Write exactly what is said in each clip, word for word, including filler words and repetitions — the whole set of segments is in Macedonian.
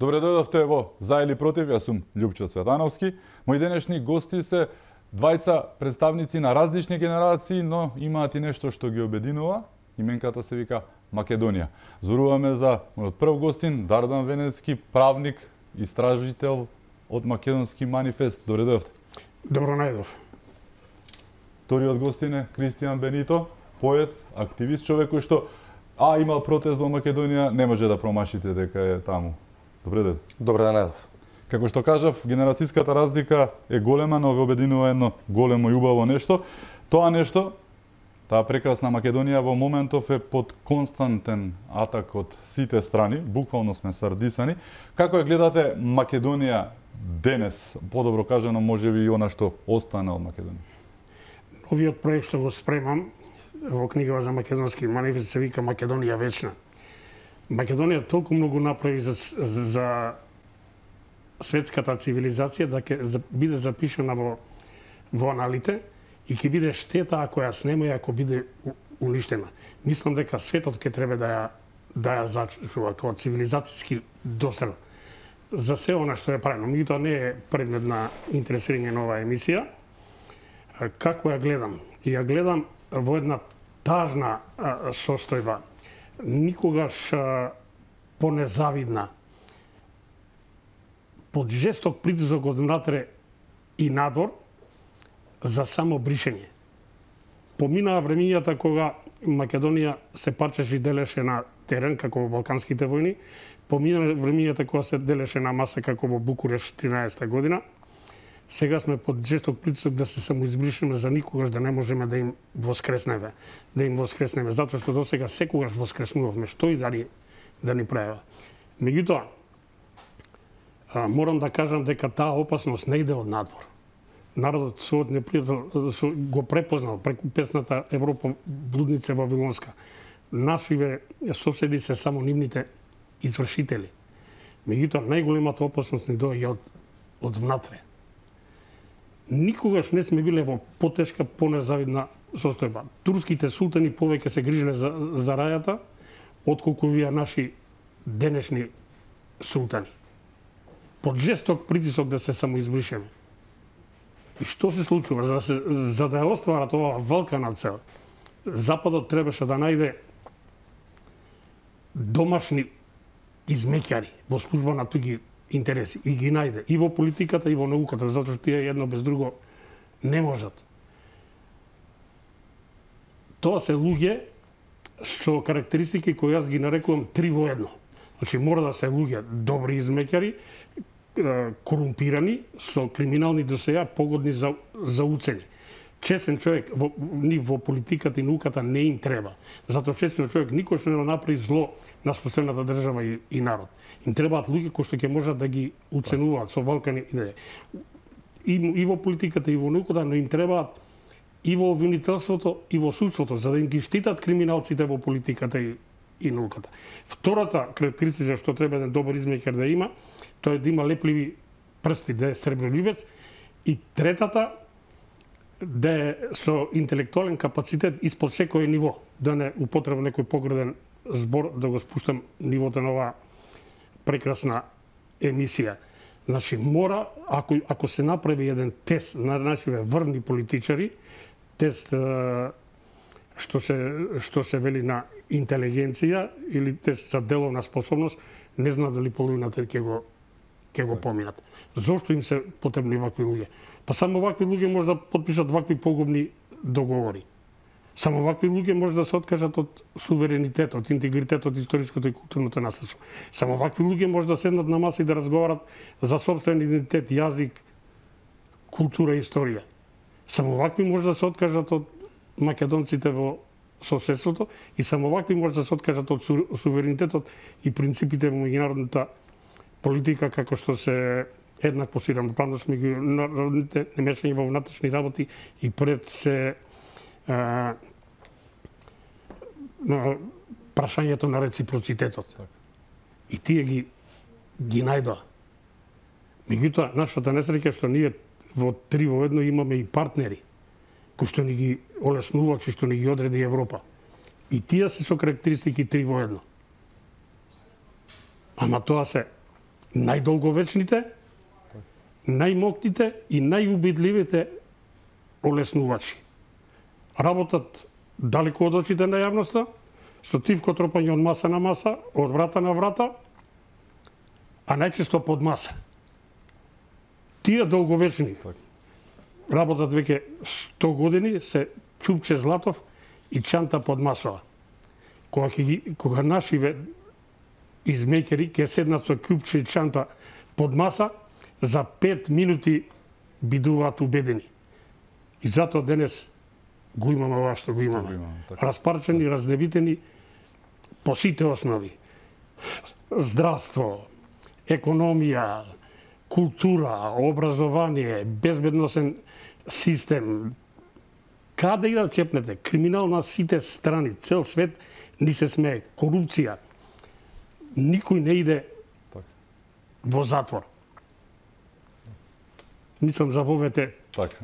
Добре дојдовте во За или против, јас сум Љупчо Цветановски. Мои денешни гости се двајца представници на различни генерации, но имаат и нешто што ги обединува. Именката се вика Македонија. Зборуваме за мојот прв гостин, Дардан Венецки, правник, истражител од Македонски манифест. Добре дојдовте. Добро најдов. Вториот гостин е Кристијан Бенито, поет, активист, човек кој што а имал протест во Македонија, не може да промашите дека е таму. Добре ден. Добре ден, најдов. Како што кажав, генерацијската разлика е голема, но ве обединува едно големо и убаво нешто. Тоа нешто, таа прекрасна Македонија во моментов е под константен атак од сите страни, буквално сме сардисани. Како ја гледате Македонија денес, подобро кажано, можеби и она што остана од Македонија? Овиот проект што го спремам во книгава за Македонски манифест се вика Македонија вечна. Македонија толку многу направи за, за светската цивилизација да ќе биде запишана во, во аналите и ќе биде штета ако ја снема и ако биде уништена. Мислам дека светот ќе треба да ја, да ја зачува како цивилизацијски дострел за се она што е правено. Меѓутоа не е предмет на интересирање на оваа емисија. Како ја гледам? Ја гледам во една тажна а, состојба, никогаш а, понезавидна, под жесток притисок од внатре и надвор за само бришење. Поминаа времињата кога Македонија се парчеше и делеше на терен, како во Балканските војни, поминаа времињата кога се делеше на маса, како во Букуреш тринаесетта година. Сега сме под жесток притисок да се самоизбришеме за никогаш да не можеме да им воскреснеме, да им воскреснеме, затоа што досега секогаш воскреснувавме, што и да ни, да ни прави. Меѓутоа, морам да кажам дека таа опасност не иде од надвор. Народот својот непријател го препознал преку песната Европа блудница вавилонска. Нашиве соседи се само нивните извршители. Меѓутоа, најголемата опасност ни доаѓа од, од внатре. Никогаш не сме биле во потешка, понезавидна состојба. Турските султани повеќе се грижеле за, за рајата, отколку вие наши денешни султани. Под жесток притисок да се самоизбришеме. И што се случува? За да, се, за да ја остварат оваа велкана цел, Западот требаше да најде домашни измеќари во служба на туѓи интереси и ги најде и во политиката и во науката, затоа што тие едно без друго не можат. Тоа се луѓе со карактеристики кои јас ги нарекувам три во едно. Значи мора да се луѓе добри измеќари, корумпирани, со криминални досеја, погодни за, за уцени. Честен човек во, ни во политиката и науката не им треба. Затоа честен човек никош не направи зло на собствената држава и, и народ. Им требаат луѓе кои што ќе можат да ги уценуваат со валкани идеи. И, и во политиката и во науката, но им требаат и во обвинителството и во судството, за да им ги штитат криминалците во политиката и, и науката. Втората карактеристика што треба еден добар измеќар да има, тоа е да има лепливи прсти, да е сребролюбец. И третата, да е со интелектуален капацитет испод секој ниво, да не употребам некој погреден збор, да го спуштам нивото на оваа прекрасна емисија. Значи, мора, ако, ако се направи еден тест на нашиве врвни политичари, тест што се, што се вели на интелигенција или тест за деловна способност, не знам дали половината ќе го, ќе го поминат. Зошто им се потребни вакви луѓе? Па само вакви луѓе може да подпишат вакви погубни договори. Само вакви луѓе може да се откажат од суверенитетот, интегритетот, историското и културното наследство. Само вакви луѓе може да седнат на маса и да разговарат за собствен идентитет, јазик, култура и историја. Само вакви може да се откажат од македонците во соседството и само вакви може да се откажат од суверенитетот и принципите во меѓународната политика, како што се еднакво и рамноправност меѓу народните, немешање во внатрешни работи и пред се а, на прашањето на реципроцитетот. И тие ги ги најдоа. Меѓутоа, нашата несреќа што ние во три во едно имаме и партнери кои што ни ги олеснуваат и што ни ги одреди Европа. И тие се со карактеристики три во едно. Ама тоа се најдолговечните, најмокните и најубедливите олеснувачи. Работат далеко од очите на јавноста, со тивко тропање од маса на маса, од врата на врата, а најчесто под маса. Тие долговечни работат веќе сто години, се ќупче златов и чанта под масова. Кога, ги, кога нашиве измекери ќе седнат со ќупче и чанта под маса, за пет минути бидуваат убедени. И затоа денес го имаме ова што го имаме. Распарчени, разнебитени по сите основи. Здравство, економија, култура, образование, безбедносен систем. Каде и да чепнете, криминал на сите страни, цел свет ни се смее, корупција. Никој не иде во затвор. Мислам за вовете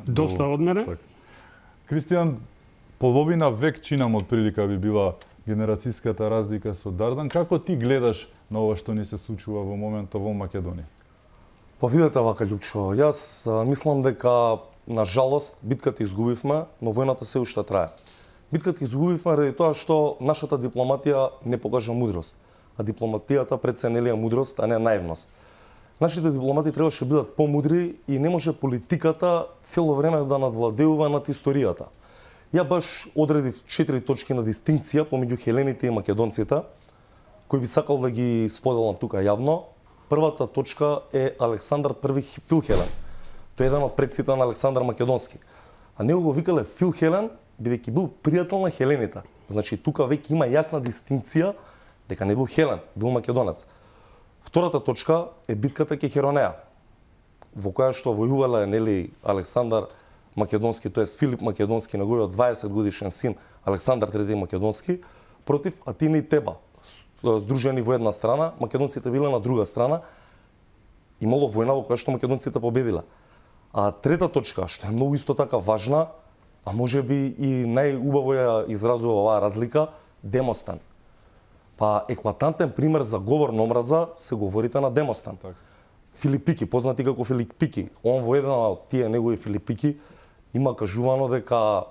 доста од мене. Кристијан, половина век чинам од прилика би била генерацијската разлика со Дардан. Како ти гледаш на ова што ни се случува во моментот во Македонија? Па видете вака, Љупчо, јас мислам дека на жалост битката изгубивме, но војната се уште трае. Битката изгубивме ради тоа што нашата дипломатија не покажа мудрост, а дипломатијата преценелија мудрост, а не наивност. Нашите дипломати требаше бидат помудри и не може политиката цело време да надвладеува над историјата. Ја баш одредив четири точки на дистинкција помеѓу хелените и македонците, кои би сакал да ги споделам тука јавно. Првата точка е Александар Први Филхелен. Тој е еден од предците на Александар Македонски. А него го викале Филхелен, бидејќи бил пријател на хелените. Значи тука веќе има јасна дистинкција дека не бил хелен, бил македонец. Втората точка е битката кај Херонеа, во која што војувале нели Александар Македонски, тоест Филип Македонски, неговиот дваесет годишен син Александар Трети Македонски, против Атина и Теба, здружени во една страна, македонците биле на друга страна, имало војна во која што македонците победиле. А трета точка, што е многу исто така важна, а може би и најубаво ја изразува оваа разлика, Демостан. Па еклатантен пример за говор на омраза се говорите на Демостан. Так. Филипики, познати како Филипики, он во една од тие негови Филипики има кажувано дека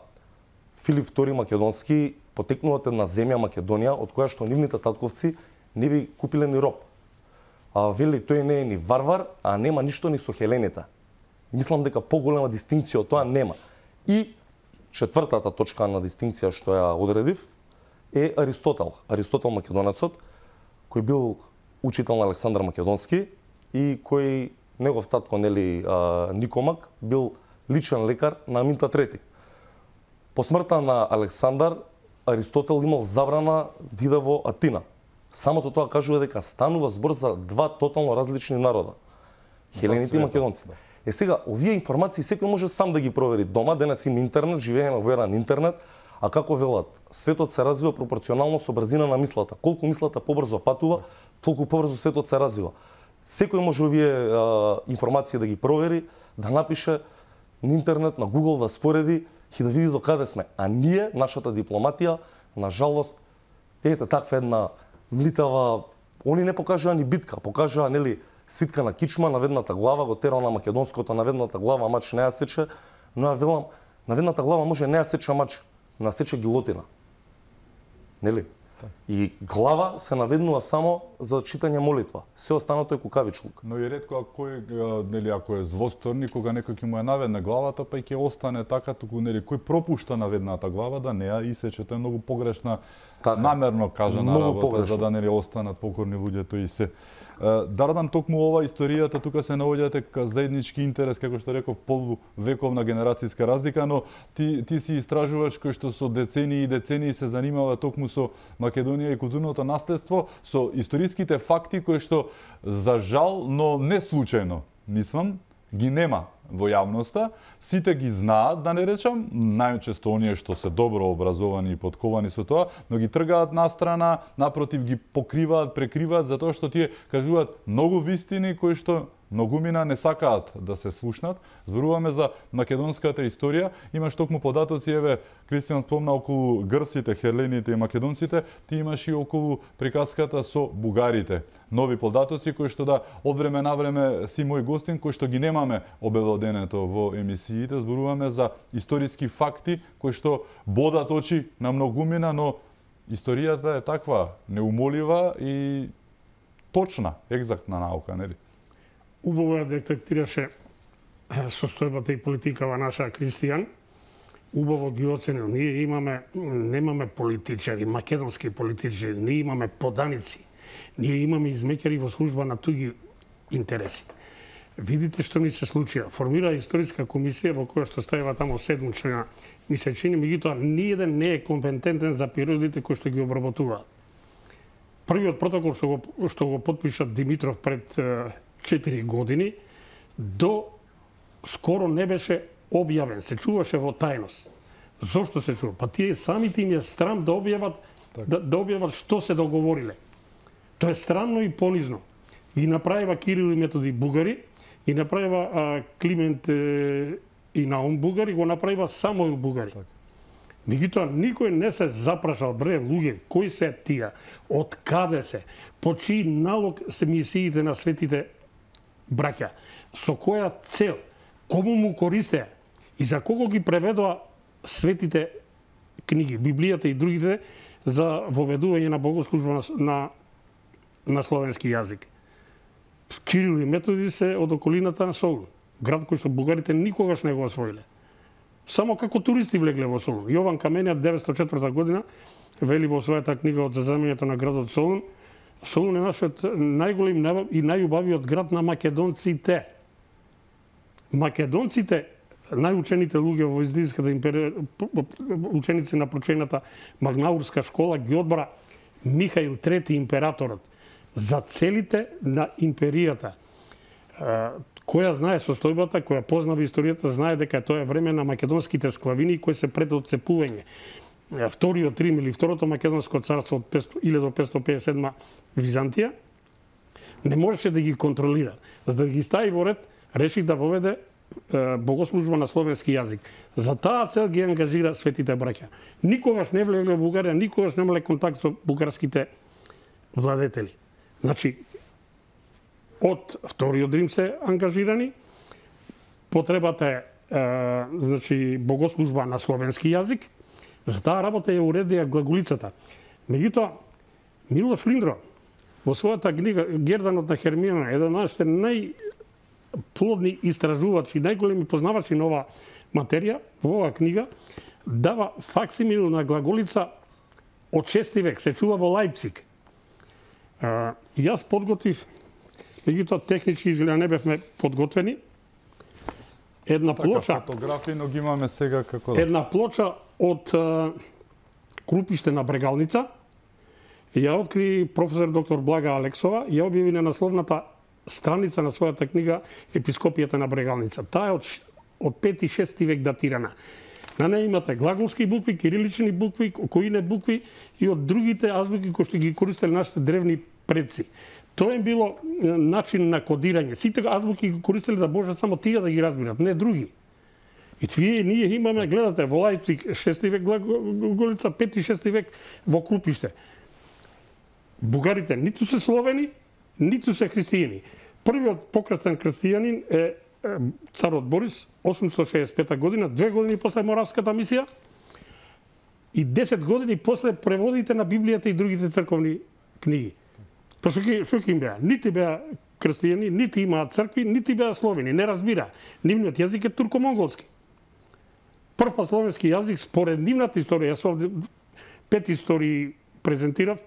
Филип Втори Македонски потекнува од една земја Македонија од која што нивните татковци не би купиле ни роб. А вели тој не е ни варвар, а нема ништо ни со хелените. Мислам дека поголема дистинкција од тоа нема. И четвртата точка на дистинкција што ја одредив е Аристотел. Аристотел македонецот, кој бил учител на Александар Македонски и кој негов татко нели Никомак бил личен лекар на Аминта Трети. По смртта на Александар, Аристотел имал забрана да иде во Атина. Самото тоа кажува дека станува збор за два тотално различни народа. Хелените и македонците. Е сега, овие информации секој може сам да ги провери дома, денес има интернет, живееме во еден интернет, а како велат, светот се развива пропорционално со брзина на мислата. Колку мислата побрзо патува, толку побрзо светот се развива. Секој може овие а, информации да ги провери, да напише на интернет, на Google, да спореди и да види до каде сме. А ние, нашата дипломатија, на жалост, ете таква една млитава, они не покажаа ни битка, покажаа нели свитка на кичма, на ведната глава, го терал на македонското, на ведната глава мач не ја сече, но ја велам, на ведната глава може не ја сече мач, но ја сече гилотина. Нели? И глава се наведнува само за читање молитва. Се останато е кукавичлук. Но и ретко ако е, нели, ако е злосторни, кога некој ќе му ја наведне главата, па и ќе остане така, туку нели кој пропушта наведната глава да не ја исече, тоа е многу погрешна, така, намерно кажана работа погрешна, за да нели останат покорни луѓето и се. Дардан, токму ова историјата тука се наоѓате ка заеднички интерес, како што реков, полувековна генерацијска разлика, но ти ти си истражуваш кој што со децении и децении се занимава токму со Македонија и културното наследство, со историските факти кои што за жал, но не случајно, мислам, ги нема во јавноста, сите ги знаат, да не речам, најчесто оние што се добро образовани и подковани со тоа, но ги тргаат настрана, напротив ги покриваат, прекриваат, затоа што тие кажуваат многу вистини кои што многумина не сакаат да се слушнат. Зборуваме за македонската историја, имаш токму податоци, еве Кристијан спомна околу грците, херлените и македонците, ти имаш и околу приказката со бугарите. Нови податоци кои што да од време на време си мој гостин, кои што ги немаме обелоденето во емисиите, зборуваме за историски факти кои што бодат очи на многумина, но историјата е таква неумолива и точна, екзактна наука, нели? Убаво ја детектираше состојбата и политикава наша Кристијан. Убаво ги оценил. Ние имаме, немаме политичари, македонски политичари, ние имаме поданици. Ние имаме измеќари во служба на туги интереси. Видите што ни се случија. Формира историска комисија во која што ставува тамо седум члена. Ми се чини, меѓутоа, ниеден не е компетентен за периодите кои што ги обработуваат. Првиот протокол што го, што го подпиша Димитров пред четири години, до скоро не беше објавен, се чуваше во тајност. Зошто се чува? Па тие самите им е срам да објават, да, да објават што се договориле. Тоа е странно и понизно. Ги направива Кирил и Методи бугари, ги направива а, Климент е, и Наум бугари, го направива Самуил бугари. Меѓутоа, никој не се запрашал, бре, луѓе, кои се тие, од каде се, по чиј налог се мисиите на светите браќа, со која цел, кому му користеа и за кого ги преведоа светите книги, Библијата и другите, за воведување на богослужба на, на, на словенски јазик. Кирил и Методи се од околината на Солун, град кој што бугарите никогаш не го освоиле. Само како туристи влегле во Солун. Јован Камениот деветстотини и четврта година вели во својата книга од заземањето на градот Солун, Солун е нашиот најголем и најубавиот град на македонците. Македонците, најучените луѓе во Византиската империја, ученици на прочената Магнаурска школа, ги одбара Михаил трети императорот за целите на империјата. Која знае состојбата, која познава историјата, знае дека тоа е време на македонските склавини кои се пред отцепување. Вториот Рим или Второто македонско царство од илјада петстотини пеесет и седма Византија не можеше да ги контролира. За да ги стави во ред, реши да воведе е, богослужба на словенски јазик. За таа цел ги ангажира светите браќа. Никогаш не влегле во Бугарија, никогаш немале контакт со бугарските владетели. Значи, од Вториот Рим се ангажирани, потребата е, е значи, богослужба на словенски јазик, за таа работа ја уредија глаголицата. Меѓутоа, Милош Линдро, во својата книга Герданот на Хермиона, еден од нашите најплодни истражувачи, најголеми познавачи на ова материја, во оваа книга, дава факсимил на глаголица од шести век, се чува во Лајпциг. А, јас подготвив, меѓутоа технички изгледа не бевме подготвени, една така, плоча, фотографии, но ги имаме сега како да. Една плоча од а, крупиште на Брегалница, ја откри професор доктор Блага Алексова, ја објави на насловната страница на својата книга Епископијата на Брегалница. Таа е од, од пети и шести век датирана. На неја имате глаголски букви, кирилични букви, коине букви и од другите азбуки кои што ги користеле нашите древни предци. Тоа е било начин на кодирање. Сите азбуки ги користеле да можат само тие да ги разбират, не други. И твие ние имаме, гледате, во Лајпциг шести век глаголица, пети и шести век во Крупиште. Бугарите ниту се словени, ниту се христијани. Првиот покрстен христијанин е царот Борис, осумстотини шеесет и пета година, две години после Моравската мисија и десет години после преводите на Библијата и другите црковни книги. Па што ќе им беа? Нити беа христијани, нити имаат цркви, нити беа словени, не разбира. Нивниот јазик е турко-монголски. Прв па словенски јазик според нивната историја, јас овде пет истории презентирав,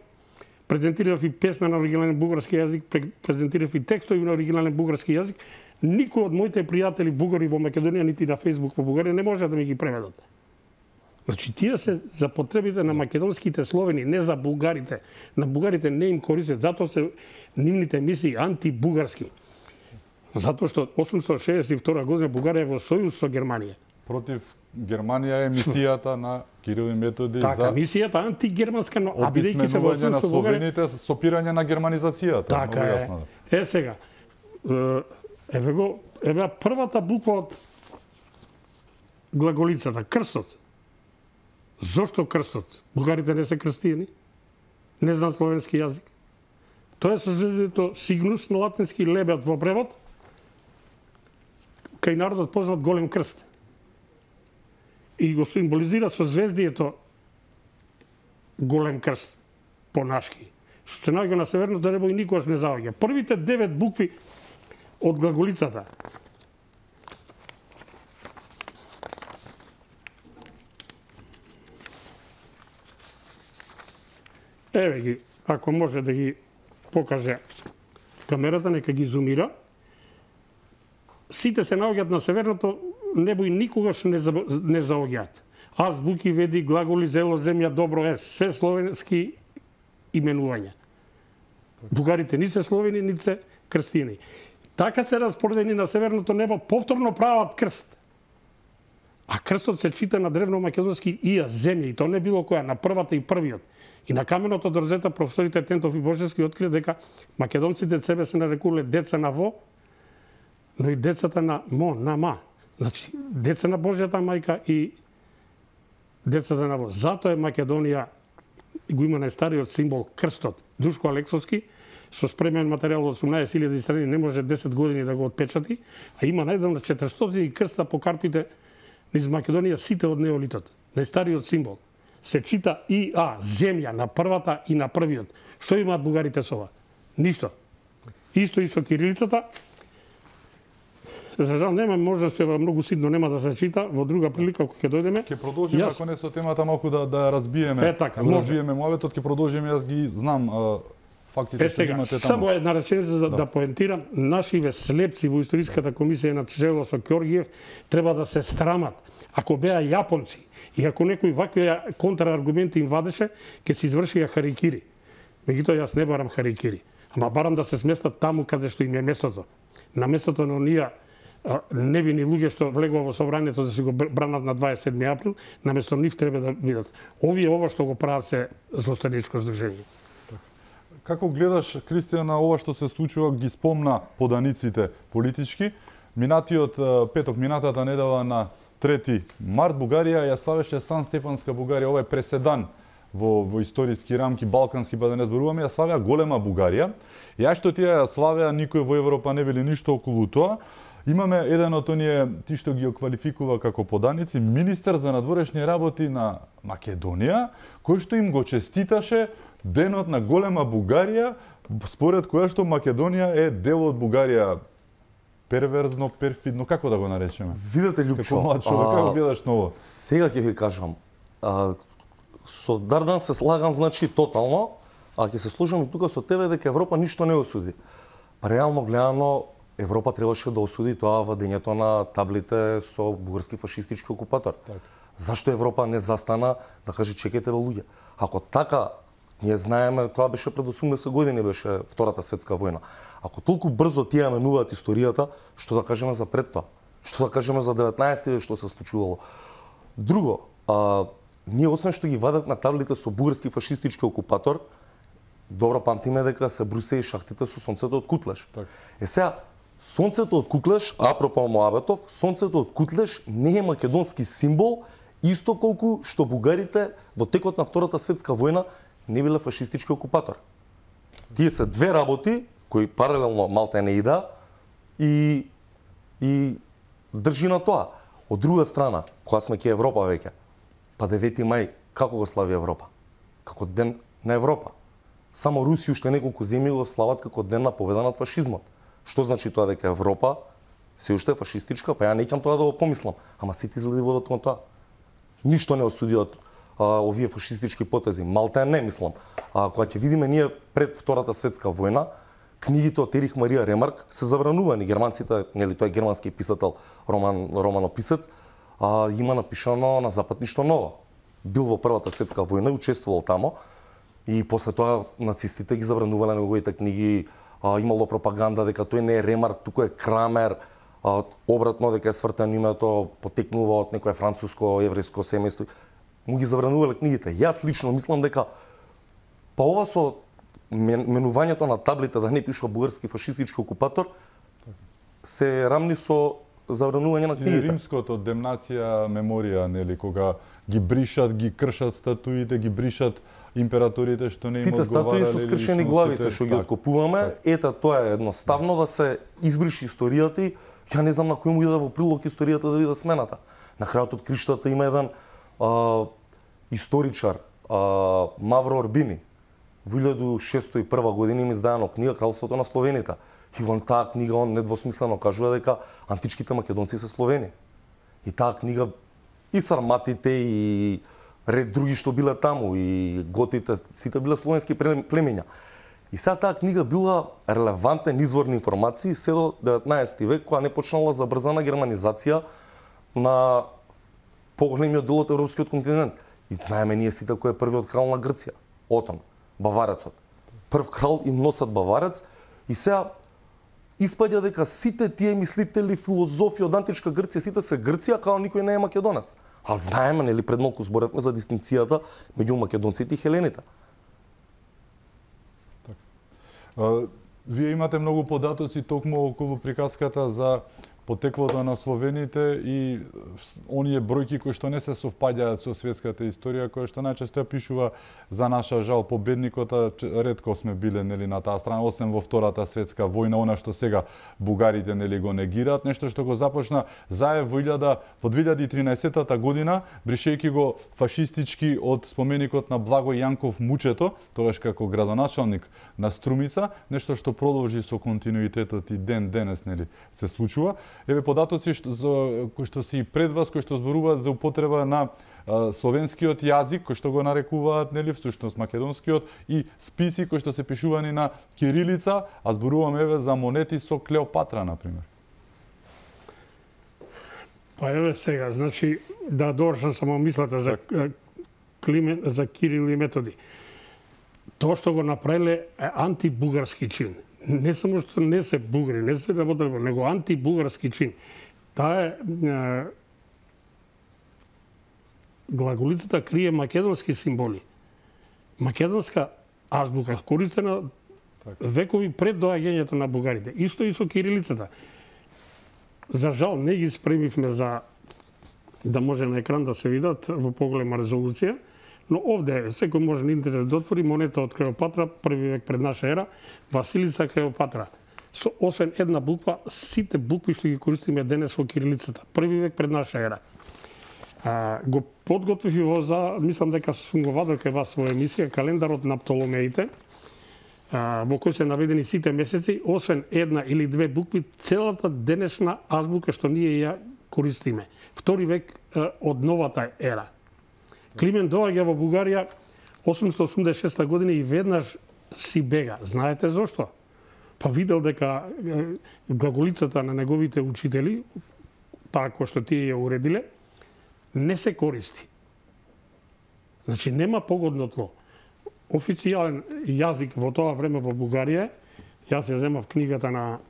презентирав и песна на оригинален бугарски јазик, презентирав и текстови на оригинален бугарски јазик. Никој од моите пријатели бугари во Македонија, нити на Фејсбук во Бугарија не може да ми ги преведат. Значи, тие се за потребите на македонските словени, не за бугарите. На бугарите не им користат, затоа се нивните емисии антибугарски. Затоа што осумстотини шеесет и втора година Бугарија е во сојуз со Германија. Против Германија е мисијата на Кирил и Методи така, за мисијата антигерманска, но а бидејќи се во сојуз со Бугарија, словените со опирање на германизацијата. така е. Е сега, Еве го, еве првата буква од глаголицата, крстот. Зошто крстот? Бугарите не се крстиени, не знаат словенски јазик. Тоа е созвездието Сигнус на латински лебед во превод, кај народот познат голем крст. И го символизира созвездието голем крст по-нашки. Што се наоѓа на северното небо и никогаш не заоѓа. Првите девет букви од глаголицата еве ги, ако може да ги покаже камерата, нека ги зумира. Сите се наоѓаат на северното небо и никогаш не, за, не заоѓаат. Азбуки, веди, глаголи, зело, земја, добро е, се словенски именувања. Бугарите ни се словени, ни се крстини. Така се распоредени на северното небо, повторно прават крст. А крстот се чита на древно-македонски ија, земја, и тоа не било која, на првата и првиот. И на каменот од Орзета професорите Тентов и Божевски открија дека македонците себе се нарекувале деца на во, но и децата на мо, на ма. Значи, деца на Божјата мајка и децата на во. Затоа е Македонија, го има најстариот символ крстот. Душко Алексовски, со спремен материјал од осумнаесет илјади страни, не може десет години да го отпечати, а има најдавно четиристотини крста по карпите низ Македонија, сите од неолитот. Најстариот символ. Се чита и а, земја на првата и на првиот. Што имаат бугарите со ова? Ништо. Исто и со кирилицата. За жал нема можност, ева многу ситно нема да се чита, во друга прилика кога ќе дојдеме. Ќе продолжиме јас... ако не со темата малку да да разбиеме. Е така, да разбиеме муабетот, ќе продолжиме, јас ги знам а, фактите е, што сега, имате таму. Само една реченица за да, да поентирам, нашиве слепци во историската комисија на чело со Ќоргиев треба да се страмат. Ако беа јапонци и ако некој вакви контраргументи им вадеше, ќе се извршија харикири. Меѓутоа јас не барам харикири, ама барам да се сместат таму каде што им е местото. На местото на оние невини луѓе што влегува во собранието да се го бранат на дваесет и седми април, наместо нив треба да бидат. Овие ова што го прават се злостаничко здружение. Како гледаш, Кристијан, на ова што се случува, ги спомна поданиците политички. Минатиот петок, минатата недела на трети март, Бугарија ја славеше Сан Стефанска Бугарија, ова е преседан во, во историски рамки, балкански, па да не зборуваме, ја славеа голема Бугарија. Ја што тие ја славеа, никој во Европа не били ништо околу тоа. Имаме еден од оние, ти што ги оквалификува како поданици, министер за надворешни работи на Македонија, кој што им го честиташе денот на голема Бугарија, според која што Македонија е дел од Бугарија. Перверзно, перфидно, како да го наречеме? Видете, Љупчо, како млад човек, како гледаш на ова? Сега ќе ви кажам, а, со Дардан се слагам, значи, тотално, а ќе се сложам и тука со тебе дека Европа ништо не осуди. Реално гледано, Европа требаше да осуди тоа вадењето на таблите со бугарски фашистички окупатор. Так. Зашто Европа не застана да каже чекайте бе луѓе? Ако така, ние знаеме, тоа беше пред осумдесет години, беше Втората светска војна. Ако толку брзо тие менуваат историјата, што да кажеме за пред тоа? Што да кажеме за деветнаесети век што се случувало? Друго, а, ние освен што ги вадат на таблите со бугарски фашистички окупатор, добро памтиме дека се брусе и шахтите со сонцето од Кутлеш. Так. Е сега, сонцето од Кутлеш, апропо Моабетов, сонцето од Кутлеш не е македонски символ, исто колку што бугарите во текот на Втората светска војна не биле фашистички окупатор. Тие се две работи кои паралелно малте не ида и и држи на тоа. Од друга страна, кога сме ке Европа веќе, па девети мај како го слави Европа? Како ден на Европа. Само Руси уште неколку земји го слават како ден на победа над фашизмот. Што значи тоа дека Европа се уште е фашистичка? Па ја не ќам тоа да го помислам, ама сите изгледи водат кон тоа. Ништо не осуди од а, овие фашистички потези. Малта не мислам. А кога ќе видиме ние пред Втората светска војна, книгите од Ерих Марија Ремарк се забранувани. Германците, нели тој е германски писател, роман романописец, а има напишано на запад ништо ново. Бил во Првата светска војна и учествувал тамо. И после тоа нацистите ги забранувале неговите книги, а, имало пропаганда дека тој не е Ремарк, туку е Крамер, а, обратно дека е свртено името, потекнува од некое француско еврејско семејство. Му ги забранувале книгите. Јас лично мислам дека па ова со менувањето на таблите да не пишува бугарски фашистички окупатор, се рамни со забранување на И книгите. римското демнација меморија, нели, кога ги бришат, ги кршат статуите, ги бришат императорите што не им Сите одговарале. статуи со скршени глави се што ги откупуваме, ета тоа е едноставно да се избриши историјата и ја не знам на кој му иде во прилог историјата да биде смената. На крајот од криштата има еден а, историчар, а, Мавро Орбини, во илјаду шестстотини и прва година им издадена книга Кралството на Словените. И во таа книга он недвосмислено кажува дека античките македонци се словени. И таа книга и сарматите и ред други што биле таму и готите, сите биле словенски племења. И сега таа книга била релевантен извор на информации се до деветнаесети век, кога не почнала забрзана германизација на поголемиот дел од европскиот континент. И знаеме ние сите кој е првиот крал на Грција, Отон, баварецот. Прв крал им носат баварец и сега испаѓа дека сите тие мислители, филозофи од античка Грција, сите се Грција, као никој не е македонец. А знаеме, нели, пред малку зборевме за дистинцијата меѓу македонците и хелените. А, вие имате многу податоци токму околу приказката за потеклото на словените и оние бројки кои што не се совпаѓаат со светската историја, која што најчесто ја пишува за наша жал победникот, ретко сме биле, нели, на таа страна, освен во Втората светска војна, она што сега бугарите, нели, го негираат, нешто што го започна Заев во во две илјади и тринаесетта година, бришејќи го фашистички од споменикот на Благој Јанков Мучето, тогаш како градоначалник на Струмица, нешто што продолжи со континуитетот и ден денес, нели, се случува. Еве податоци што, за, кои што си пред вас, кои што зборуваат за употреба на а, словенскиот јазик, кој што го нарекуваат, нели, всушност македонскиот, и списи кои што се пишувани на кирилица, а зборуваме еве за монети со Клеопатра, например. Па еве сега, значи, да довршам само мислата за Климен, за Кирил и Методи. Тоа што го направиле е антибугарски чин. Не само што не се бугари, не се работеле, него антибугарски чин. Таа е, е глаголицата крие македонски символи. Македонска азбука користена векови пред доаѓањето на бугарите. Исто и со кирилицата. За жал не ги спремивме за да може на екран да се видат во поголема резолуција, но овде секој може на интернет да отвори монета од Клеопатра, први век пред наша ера, Василица Клеопатра. Со освен една буква, сите букви што ги користиме денес во кирилицата, први век пред наша ера. А, го подготвив и во за, мислам дека сум го вадил кај вас во емисија, календарот на Птоломеите, а, во кој се наведени сите месеци, освен една или две букви, целата денешна азбука што ние ја користиме. Втори век а, од новата ера. Климен доаѓа во Бугарија осумстотини осумдесет и шеста година и веднаш си бега. Знаете зошто? Па видел дека глаголицата на неговите учители, таа која што тие ја уредиле, не се користи. Значи нема погодно тло. Официјален јазик во тоа време во Бугарија, јас ја земав книгата на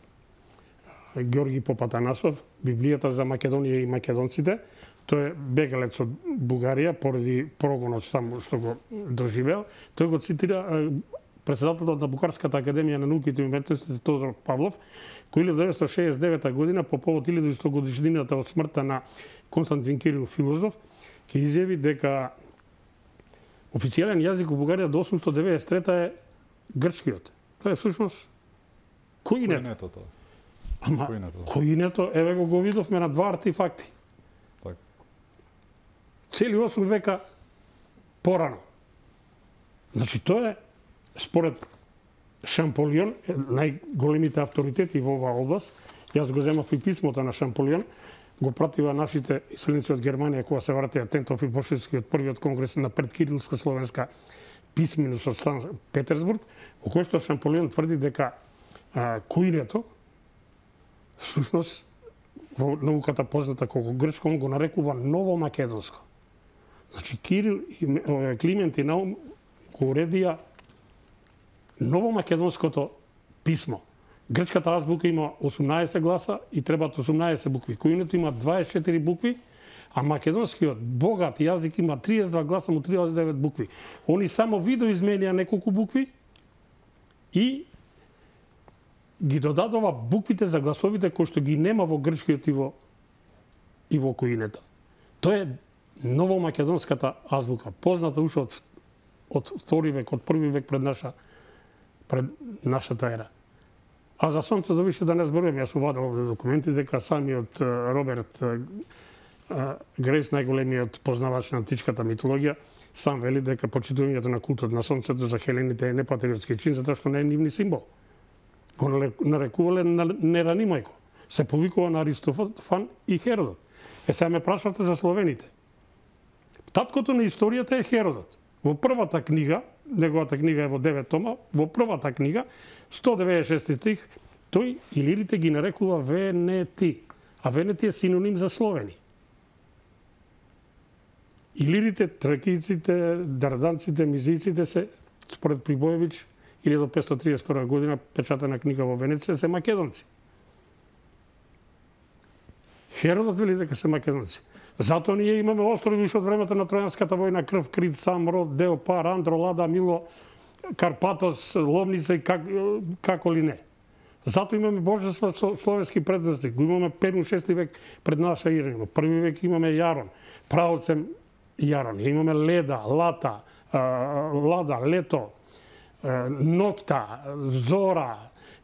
Ѓорги Попатанасов, Библијата за Македонија и македонците. Тој е бегалец од Бугарија поради прогонот таму што го доживеал. Тој го цитира председателот на Букарската академија на науките и уметностите Тодор Павлов, кој илјада деветстотини шеесет и девета година по повод илјада и сто годишнината од смртта на Константин Кирил филозоф, ќе изјави дека официјален јазик во Бугарија до осумстотини деветдесет и трета е грчкиот. Тоа е всушност коинето. Ама коинето, еве го го видовме на два артефакти. Цели осум века порано. Значи тоа е според Шамполион, најголемите авторитети во оваа област. Јас го земав и писмото на Шамполион, го пратива нашите исленици од Германија кога се вратија Тентов и Пошевскиот првиот конгрес на предкирилска словенска писменост од Сан Петерсбург, во кој што Шамполион тврди дека а, коинето всушност во науката позната како грчко, он го нарекува ново македонско. Значи Кирил и Климент и Наум го уредија ново македонското писмо. Грчката азбука има осумнаесет гласа и требаат осумнаесет букви. Коинето има дваесет и четири букви, а македонскиот богат јазик има триесет и два гласа, му триесет и девет букви. Они само видоизменија неколку букви и ги додадува буквите за гласовите кои што ги нема во грчкиот и во и во коинето. Тоа е новомакедонската азбука, позната уште од од втори век, од први век пред наша пред нашата ера. А за сонцето више да не зборувам, јас сум вадел овде документи дека самиот Роберт Грейс, најголемиот познавач на античката митологија, сам вели дека почитувањето на култот на сонцето за хелените е непатриотски чин, затоа што не е нивни символ. Го нарекувале неранимајко. Се повикува на Аристофан и Херодот. Е, сега ме прашавте за словените. Таткото на историјата е Херодот. Во првата книга, неговата книга е во девет тома, во првата книга, сто деветдесет и шести стих, тој илирите ги нарекува Венети, а Венети е синоним за словени. Илирите, тракийците, дарданците, мизиците се, според Прибоевиќ, илјада петстотини триесет и втора година, печатена книга во Венеција, се македонци. Херодот вели дека се македонци. Затоа ние имаме острови уште од времето на Тројанската војна, Крв, Крит, Самрод, Дел, Пар, Андро, Лада, Мило, Карпатос, Ломница и как, како ли не. Затоа имаме божества со словенски предности. Го имаме пет шести век пред наша ера. Први век имаме Јарон, праоцем Јарон. Имаме Леда, Лата, Лада, Лето, Нокта, Зора,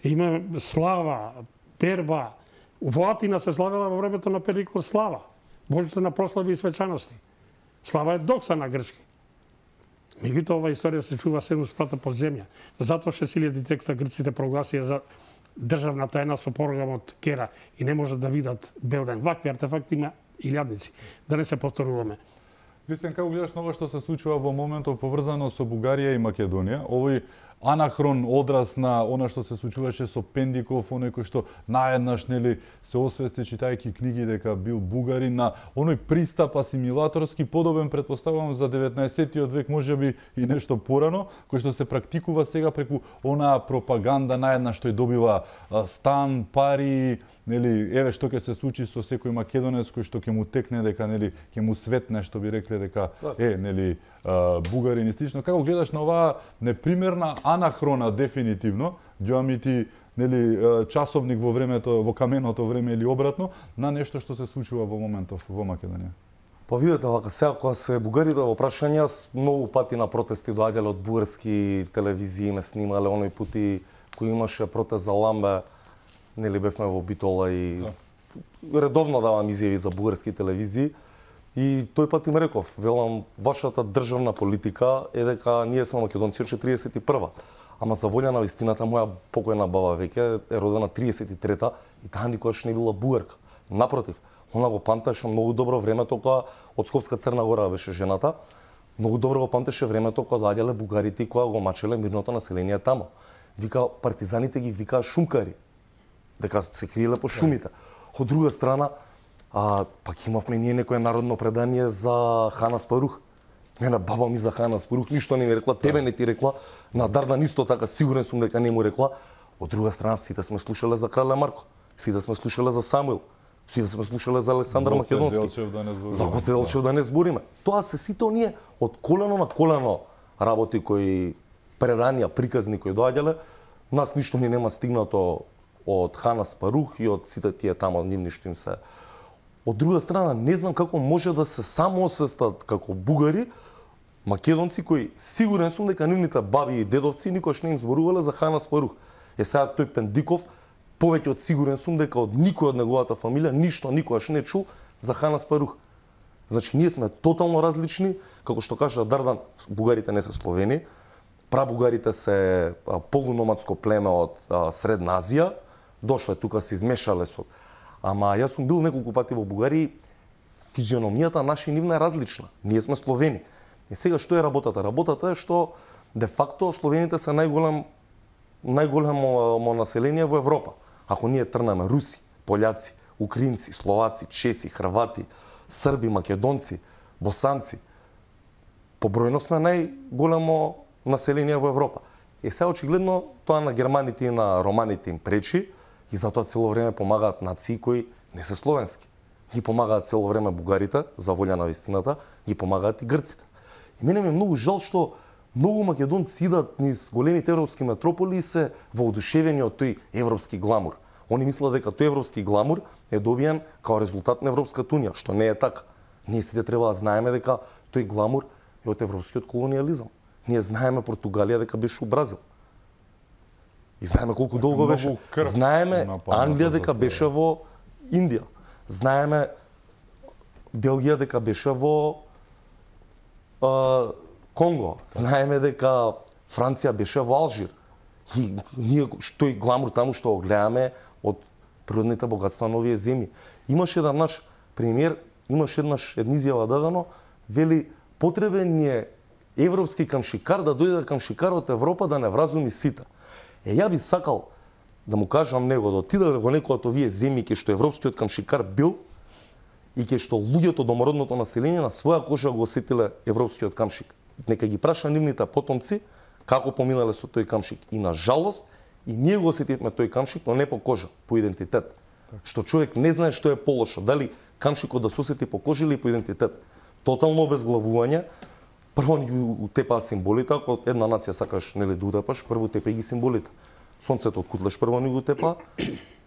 имаме Слава, Перба. Во Атина се славела во времето на Перикло Слава. Божите на прослави и свечаности. Слава е докса на грчки. Меѓутоа, ова историја се чува седум спрата под земја. Затоа шест илјади текста грците прогласија за државна тајна со програмот Кера и не можат да видат бел ден. Вакви артефакти има илјадници. Да не се повторуваме. Кристијан, како гледаш на ова што се случува во моментов поврзано со Бугарија и Македонија? Овој анахрон одраз на она што се случуваше со Пендиков, оној кој што наеднаш нели се освести читајќи книги дека бил бугарин, на оној пристап асимилаторски подобен, претпоставувам, за деветнаесеттиот век, можеби и нешто порано, кој што се практикува сега преку онаа пропаганда наеднаш што ја добива стан, пари, нели, еве што ќе се случи со секој македонец кој што ќе му текне дека нели ќе му светне, што би рекле дека е нели бугарин и слично. Како гледаш на оваа непримерна анахрона дефинитивно, ѓоамити нели часовник во времето, во каменото време или обратно, на нешто што се случува во моментов во Македонија? Па видете, вака сега кога се бугарите во прашања, многу пати на протести доаѓале од бугарски телевизии, ме снимале оној пути кој имаше протест за Ламбе, нели бевме во Битола и да. Редовно давам изјави за бугарски телевизии. И тој пат им реков, велам, вашата државна политика е дека ние сме македонци од четиридесет и прва. Ама за волја на вистината, моја покојна баба веќе е родена тридесет и трета и таа никогаш не била бугарка. Напротив, она го памтеше многу добро времето кога од Скопска Црна Гора беше жената. Многу добро го памтеше времето кога доаѓале бугарите и кога го мачеле мирното население тамо. Вика, партизаните ги викаа шумкари, дека се криеле по шумите. Од друга страна, а, пак имавме ние некое народно предание за Хана Спарух. Мене баба ми за Хана Спарух ништо не ми рекла, тебе не ти рекла, на Дардан исто така, сигурен сум дека не му рекла. Од друга страна, сите сме слушале за Крале Марко, сите сме слушале за Самуил, сите сме слушале за Александар Македонски, за Гоце Делчев да не збориме. Тоа се сите оние од колено на колено работи кои преданија, приказни кои доаѓале, нас ништо ни нема стигнато од Хана Спарух и од сите тие тамо нивни што им се. Од друга страна, не знам како може да се самоосвестат како бугари, македонци кои сигурен сум дека нивните баби и дедовци никош не им зборувале за Хана Спарух. Е сега тој Пендиков, повеќе од сигурен сум дека од никој од неговата фамилија ништо никогаш не чул за Хана Спарух. Значи ние сме тотално различни, како што кажа Дардан, бугарите не се словени, прабугарите се полуномадско племе од а, Средна Азија, дошле тука се измешале со. Ама јас сум бил неколку пати во Бугарија, физиономијата наша и нивна е различна. Ние сме словени. И сега што е работата? Работата е што де факто словените се најголем најголемо население во Европа. Ако ние трнеме руси, пољаци, украинци, словаци, чеси, хрвати, срби, македонци, босанци, побројно сме најголемо население во Европа. И сега очигледно тоа на германите и на романите им пречи и затоа цело време помагаат нации кои не се словенски. Ги помагаат цело време бугарите, за волја на вистината, ги помагаат и грците. И мене ми е многу жал што многу македонци идат низ големите европски метрополи и се воодушевени од тој европски гламур. Они мислат дека тој европски гламур е добиен као резултат на Европската унија, што не е така. Ние сите треба да знаеме дека тој гламур е од европскиот колониализам. Ние знаеме Португалија дека беше у Бразил. И знаеме колку долго беше. Знаеме Англија дека беше во Индија. Знаеме Белгија дека беше во а, Конго. Знаеме дека Франција беше во Алжир. И ние тој гламур таму што го гледаме од природните богатства на овие земји. Имаше еден наш премиер, имаше еднаш една изјава дадено, вели потребен ни е европски камшикар да дојде камшикар од Европа да не вразуми сите. Е, ја би сакал да му кажам него, да отиде во некој од овие земји ке што европскиот камшикар бил и ке што луѓето, домородното население на своја кожа го осетиле европскиот камшик. Нека ги праша нивните потомци како поминале со тој камшик. И на жалост, и ние го осетивме тој камшик, но не по кожа, по идентитет. Так. Што човек не знае што е полошо, дали камшикот да се осети по кожа или по идентитет. Тотално обезглавување. Прво ни утепаа символите, ако една нација сакаш нели да утепаш, прво утепај ги символите. Сонцето од кутлеш прво ни го утепа,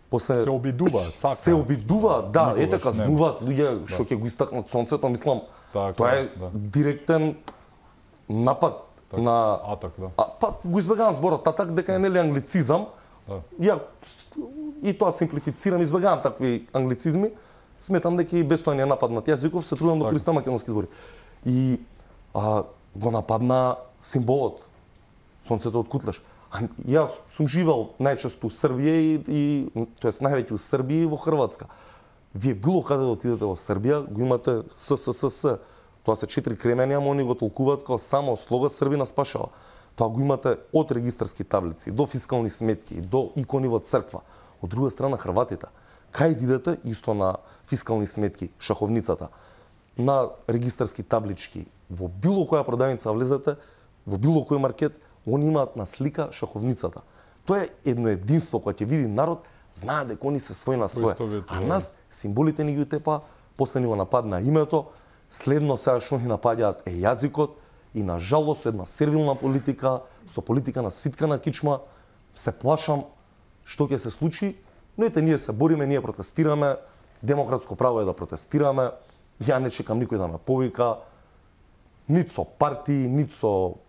после се обидуваат, сака. Се обидуваат, да, ете казнуваат луѓе што ќе го истакнат сонцето, мислам, така, тоа е да. Директен напад так, на атак, да. А, па го избегавам зборот атак дека е нели англицизам. Да. Ја и тоа симплифицирам, избегавам такви англицизми. Сметам дека и без тоа не е нападнат јазиков, се трудам да користам македонски збори. И а, го нападна символот сонцето од кутлеш. А, јас сум живеал најчесто у Србија и, и тоест највеќе у Србија и во Хрватска. Вие било каде да отидете во Србија, го имате СССС. Тоа се четири кремени, ама они го толкуваат како само слога Србина спашава. Тоа го имате од регистарски таблици до фискални сметки, до икони во црква. Од друга страна Хрватите, кај идете исто на фискални сметки, шаховницата, на регистарски таблички, во било која продавница влезете, во било кој маркет, они имаат на слика шаховницата. Тоа е едно единство кое ќе види народ, знае дека они се свој на свој. А нас символите ни ги утепа, после ни го нападна името, следно сега што ни напаѓаат е јазикот и на жалост една сервилна политика, со политика на свитка на кичма, се плашам што ќе се случи, но ете ние се бориме, ние протестираме, демократско право е да протестираме, ја не чекам никој да ме повика, нит со партии, нит со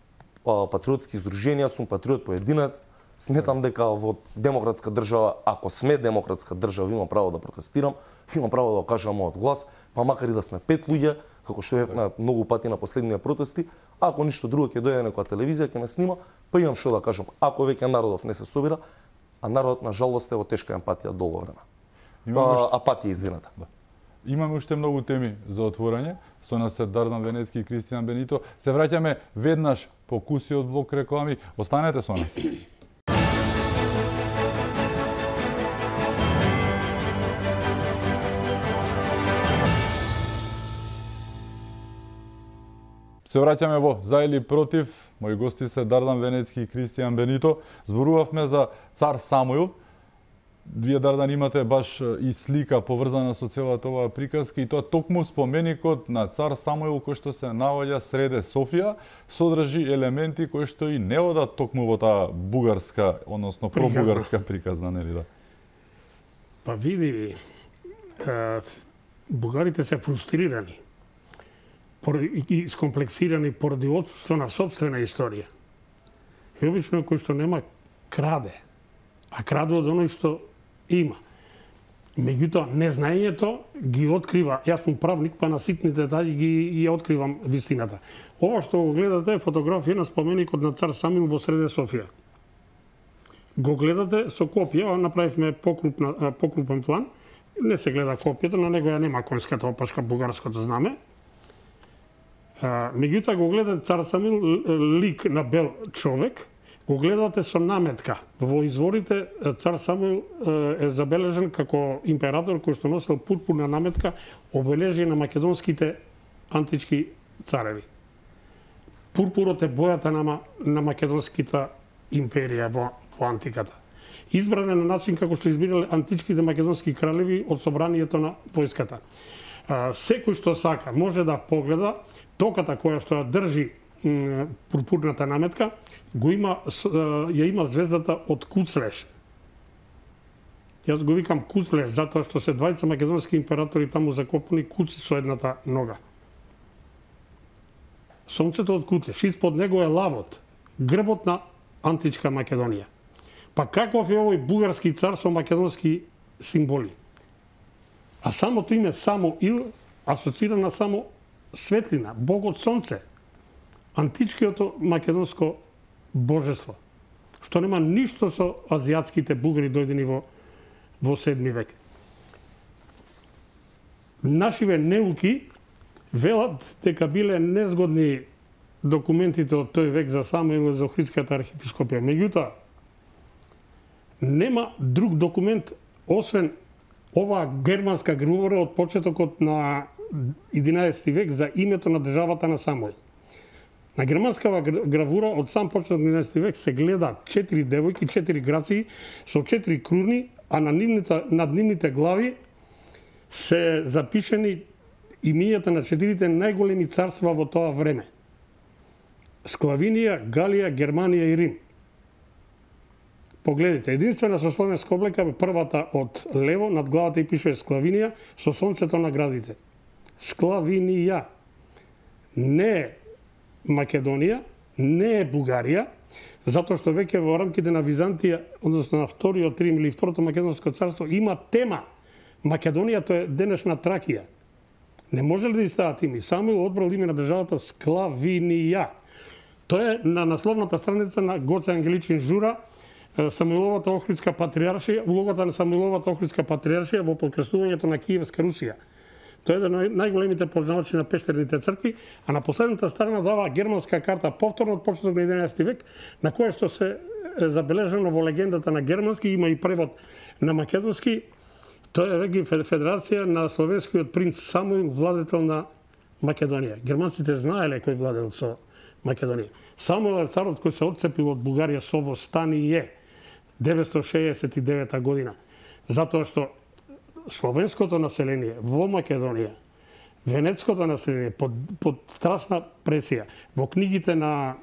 а, патриотски здруженија, сум патриот поединец, сметам дека во демократска држава, ако сме демократска држава, имам право да протестирам, имам право да кажам мојот глас, па макар и да сме пет луѓе, како што е многу пати на последниве протести, ако ништо друго ќе дојде некоја телевизија ќе ме снима, па имам што да кажам. Ако веќе народов не се собира, а народот на жалост е во тешка емпатија долго време. А, апатија, извинете. Да. Имаме уште многу теми за отворање. Со нас се Дардан Венецки и Кристијан Бенито. Се враќаме веднаш по куси од блок реклами. Останете со нас. Се враќаме во За или против. Мои гости се Дардан Венецки и Кристијан Бенито. Зборувавме за цар Самуил. Вие, Дардан, имате баш и слика поврзана со целата оваа приказка и тоа токму споменикот на цар Самуил кој што се наоѓа среде Софија содржи елементи кои што и не одат токму во таа бугарска, односно пробугарска приказна, нели да? Па види, бугарите се фрустрирани и скомплексирани поради отсутство на сопствена историја. И обично кој што нема краде, а краде од оној што има. Меѓутоа, незнаењето ги открива, јас сум правник, па на ситни детали ги, ги откривам вистината. Ова што го гледате е фотографија на споменикот на цар Самуил во среде Софија. Го гледате со копија, направивме покрупна, покрупен план, не се гледа копијата, на него ја нема конската опашка, бугарското знаме. Меѓутоа го гледате цар Самуил, лик на бел човек, го гледате со наметка. Во изворите цар Самуил е забележен како император кој што носел пурпурна наметка, обележие на македонските антички цареви. Пурпурот е бојата на, на македонската империја во, во антиката. Избран е на начин како што избирале античките македонски кралеви од собранието на војската. Секој што сака може да погледа токата која што ја држи пурпурната наметка, го има, ја има звездата од Куцлеш. Јас го викам Куцлеш, затоа што се двајца македонски императори таму закопани куци со едната нога. Сонцето од Куцлеш, испод него е лавот, грбот на античка Македонија. Па каков е овој бугарски цар со македонски символи? А самото име Само Ил асоцира на само светлина, богот сонце, античкиото македонско божество, што нема ништо со азиатските бугари дојдени во во седми век. Нашиве неуки велат дека биле незгодни документите од тој век за Самуил и за Охридската архиепископија. Меѓутоа, нема друг документ освен оваа германска гравура од почетокот на единаесети век за името на државата на Самуил. На германскава гравура од сам почеток на единаесети век се гледа четири девојки, четири граци со четири круни, а на нивните, над нивните глави се запишени имињата на четирите најголеми царства во тоа време. Склавинија, Галија, Германија и Рим. Погледите, единствена со словенска облека е првата од лево, над главата и пише Склавинија со сонцето на градите. Склавинија. Не е Македонија, не е Бугарија, затоа што веќе во рамките на Византија, односно на вториот Рим или второто Македонско царство, има тема. Македонија тоа е денешна Тракија. Не може ли да стават ими? Самуил одбрал име на државата Склавинија. Тоа е на насловната страница на Гоце Ангеличин Жура, Самуиловата Охридска патриаршија, улогата на Самуиловата Охридска патриаршија во подкрстувањето на Киевска Русија. Тоа е еден од најголемите познавачи на пештерните цркви, а на последната страна дава германска карта повторно од почеток на единаесети век, на која што се е забележано во легендата на германски, има и превод на македонски. Тоа е веќе федерација на словенскиот принц Самуил, владетел на Македонија. Германците знаеле кој владел со Македонија. Самуил е царот кој се отцепил од Бугарија со восстание деветстотини шеесет и девета година, затоа што словенското население во Македонија, венецкото население под, под страшна пресија. Во книгите на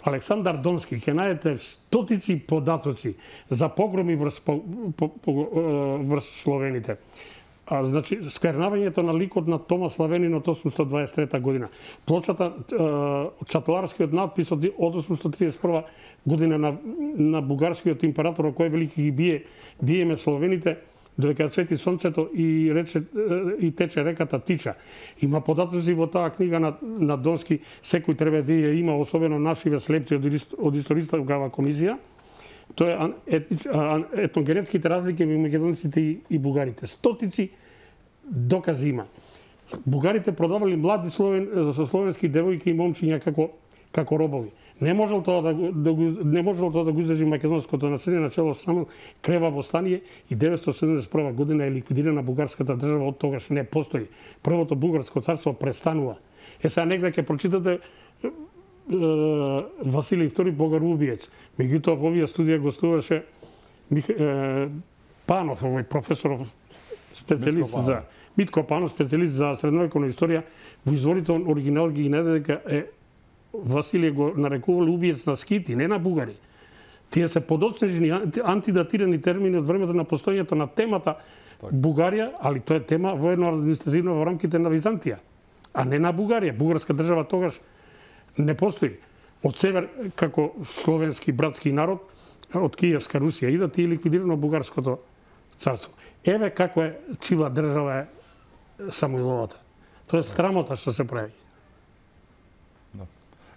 Александар Донски ќе најдете стотици податоци за погроми врз, по, по, по, врз словените. А, значи, сквернавањето на ликот на Тома Славенин од осумстотини дваесет и трета година. Плочата, чаталарскиот надпис од осумстотини триесет и прва година на, на бугарскиот император, кој велики ги бие, биеме словените, додека свети сонцето и, рече, и тече реката Тича. Има податоци во таа книга на, на Донски, секој треба да ја има, особено нашиве слепци од, од историјскава комисија. Тоа е етногенетските разлики меѓу македонците и, и бугарите. Стотици докази има. Бугарите продавали млади словен, словенски девојки и момчиња како како робови. Не можел тоа да, да не можел тоа да го издржи македонското население начело само крева восстание и деветстотини седумдесет и прва година е ликвидирана бугарската држава, од тогаш не постои. Првото бугарско царство престанува. Е сега негде ќе прочитате Василий втори богарубиец. Меѓутоа во овие студија гостуваше Панов, овој професор специјалист за Митко Панов, специјалист за средновековна историја. Во изворите оригинал ги најде дека е Василие го нарекувал убиец на скити, не на бугари. Тие се подоцнежени антидатирани термини од времето на постојањето на темата так. Бугарија, али тоа е тема воено административно во рамките на Византија, а не на Бугарија. Бугарска држава тогаш не постои. Од север, како словенски братски народ, од Киевска Русија идат и ликвидирано бугарското царство. Еве како е чива држава е Самуиловата. Тоа е срамота што се прави.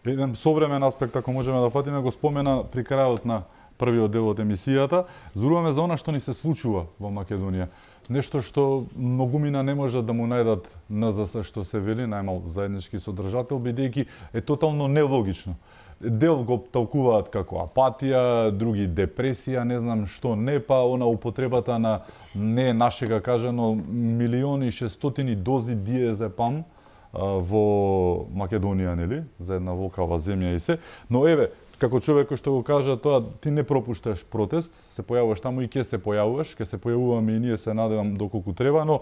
Еден современ аспект, ако можеме да фатиме, го спомена при крајот на првиот дел од емисијата. Зборуваме за она што ни се случува во Македонија. Нешто што многумина не можат да му најдат ен зес ес, што се вели, најмал заеднички содржател, бидејќи е тотално нелогично. Дел го толкуваат како апатија, други депресија, не знам што не, па она употребата на не нашега кажано милиони и шестстотини дози диазепам во Македонија, нели, за една волкава земја и се. Но еве, како човек кој што го кажа тоа, ти не пропушташ протест, се појавуваш таму и ќе се појавуваш, ќе се појавуваме и ние, се надевам доколку треба, но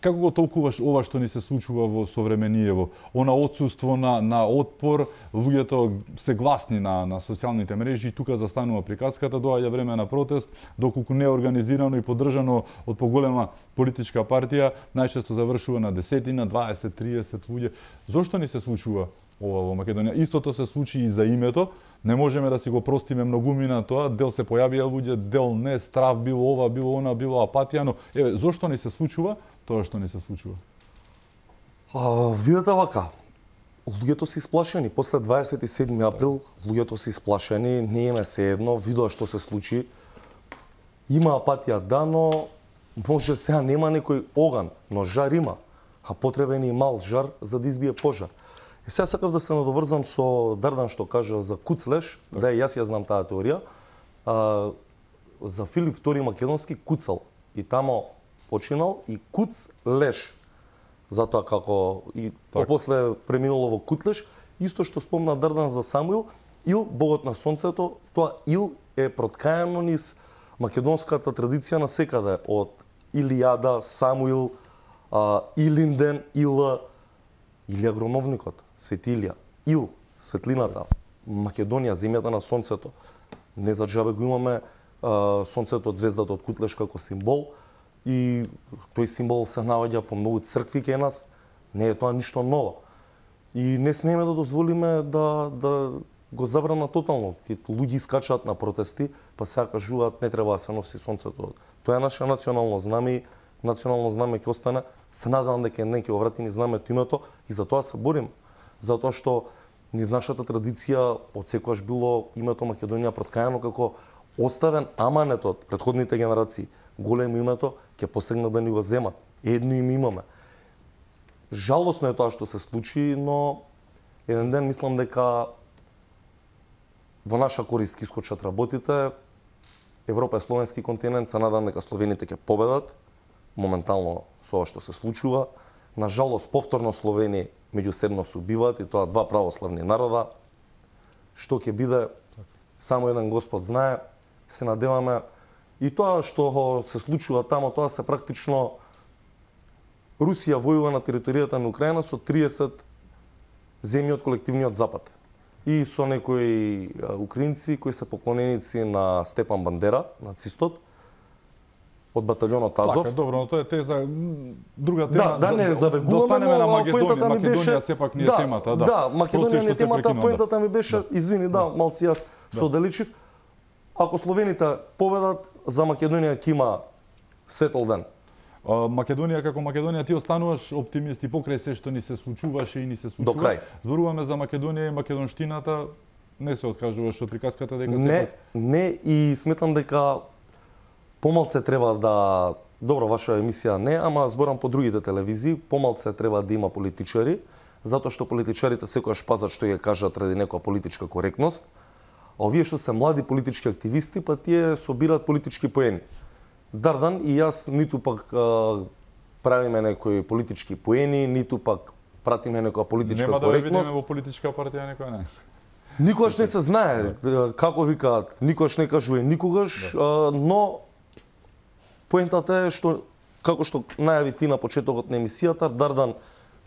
како го толкуваш ова што ни се случува во современиево? Она отсуство на на отпор, луѓето се гласни на на социјалните мрежи, тука застанува приказката, доаѓа време на протест, доколку не е организирано и поддржано од поголема политичка партија, најчесто завршува на десетина, дваесет, триесет луѓе. Зошто ни се случува ова во Македонија? Истото се случи и за името. Не можеме да си го простиме многумина тоа, дел се појавија луѓе, дел не, страв било ова, било она, било апатија, но еве зошто ни се случува тоа што ни се случува? А, видете вака, луѓето се исплашени. После дваесет и седми април луѓето се исплашени, не им е сеедно, видоа што се случи. Има апатија, да, но може сега нема некој оган, но жар има. А потребен е и мал жар за да избие пожар. И сега сакав да се надоврзам со Дардан што кажа за Куцлеш, так. Да и јас ја знам таа теорија. А, за Филип втори Македонски куцал и тамо починал и Куцлеш. Затоа како и так. После преминуло во Кутлеш, исто што спомна Дардан за Самуил, Ил, богот на сонцето, тоа Ил е проткаено низ македонската традиција на секаде, од Илијада, Самуил, а, Илинден, Ила, Илија Громовникот, Свети Илија, Ил, светлината, Македонија, земјата на сонцето. Не за џабе го имаме а, сонцето од звездата од Кутлеш како символ и тој символ се наоѓа по многу цркви кај нас. Не е тоа ништо ново. И не смееме да дозволиме да да го забрана тотално. Луѓе искачаат на протести, па сега кажуваат не треба да се носи сонцето. Тоа е наше национално знаме, национално знаме ќе остане. Се надевам дека еден ќе го вратиме знамето името и за тоа се борим. Затоа што низ нашата традиција од секогаш било името Македонија проткаено како оставен аманет од претходните генерации. Големо името ќе посегнат да ни го земат. Едно име имаме. Жалосно е тоа што се случи, но еден ден мислам дека во наша корист ќе искочат работите. Европа е словенски континент, се надам дека словените ќе победат моментално со ова што се случува. На жалост, повторно Словени меѓусебно се убиваат и тоа два православни народа. Што ќе биде, само еден Господ знае. Се надеваме и тоа што се случува тамо, тоа се практично Русија војува на територијата на Украина со триесет земји од колективниот Запад. И со некои украинци кои се поклоненици на Степан Бандера, нацистот, од баталјонот Азов. Така, добро, но тоа е теза друга тема. Да, да не забегуваме, но но поентата ми беше Македонија сепак не е да, темата, да. Да, Македонија не е темата, поентата ми беше, да. извини, да, малци јас да. Соделичив. Ако словените победат, за Македонија ќе има светол ден. А, Македонија како Македонија, ти остануваш оптимист и покрај се што ни се случуваше и ни се случува. До крај. Зборуваме за Македонија и македонштината, не се откажуваш од приказката дека не, сепак... Не, и сметам дека помалце треба да... Добро, ваша емисија не, ама зборам по другите телевизии, помалце треба да има политичари, затоа што политичарите секогаш пазат што ја кажат ради некоја политичка коректност, а овие што се млади политички активисти, па тие собираат политички поени. Дардан и јас ниту пак а, правиме некои политички поени, ниту пак пратиме некоја политичка Нема коректност. Нема да видиме во политичка партија некоја не. Никогаш не се знае како викаат, никогаш не кажува никогаш, да. а, но поентата е што како што најави ти на почетокот на емисијата, Дардан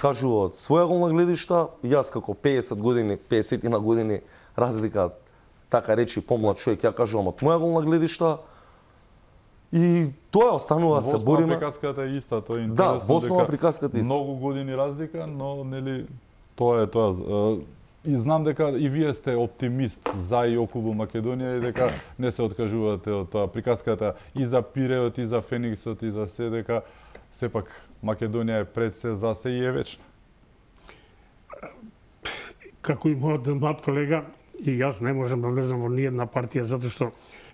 кажува од своја голна гледишта, јас како пеесет години, пеесет на години разлика, така речи помлад човек, ја кажувам од моја голна гледишта. И тоа останува да се бориме. Во приказката е иста, тоа е интересно. Да, во основа приказката е иста. Многу години разлика, но нели тоа е тоа. И знам дека и вие сте оптимист за и околу Македонија и дека не се откажувате од тоа. Приказката и за Пиреот, и за Фениксот, и за се, дека сепак Македонија е пред се, за се и е вечна. Како и мојот млад колега, и јас не можам да влезам во ниедна партија, затоа што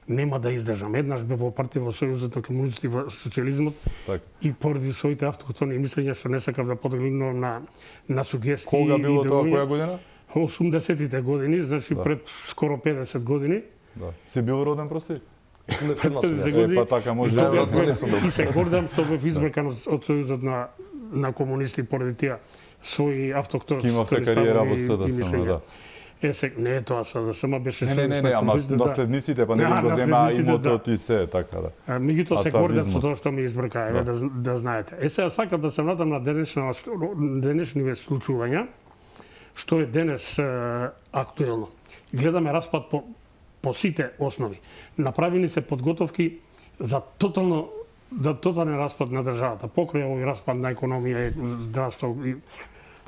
нема да издржам. Еднаш бев во партија во Сојузот на комунисти во социјализмот так. И поради своите автохтони мислења што не сакав да поделувам на на сугестии. Кога било тоа, која година? осумдесетите години, значи да. Пред скоро педесет години. Да. Си бил роден, прости? Е, па така може да и се гордам што бев избракан од Сојузот на на комунисти поради тие своји автохтони кариера во СДСМ, да. Е, се, не е тоа СДСМ беше Не, не, не, не, ама наследниците, па не Да, го земаа наследниците, имотот и се, така да. А, меѓутоа се гордат со Атавизмот. тоа што ми избрка, еве да. да знаете. Е, сега сакам да се вратам на денешна денешниве случувања, што е денес е, актуелно. Гледаме распад по по сите основи. Направени се подготовки за тотално да тотален распад на државата, покрај овој распад на економија, здравство и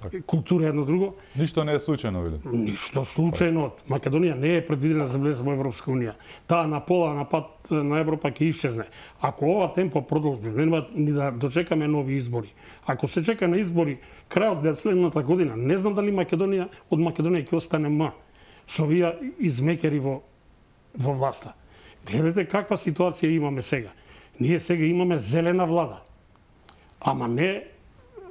Така. култура едно друго. Ништо не е случајно, види. Ништо случајно. Македонија не е предвидена за влез во Европска унија. Таа на пола на пат на Европа ќе исчезне. Ако ова темпо продолжи, нема ни да дочекаме нови избори. Ако се чека на избори крајот на следната година, не знам дали Македонија од Македонија ќе остане ма со овие измекери во во власта. Гледате каква ситуација имаме сега. Ние сега имаме зелена влада. Ама не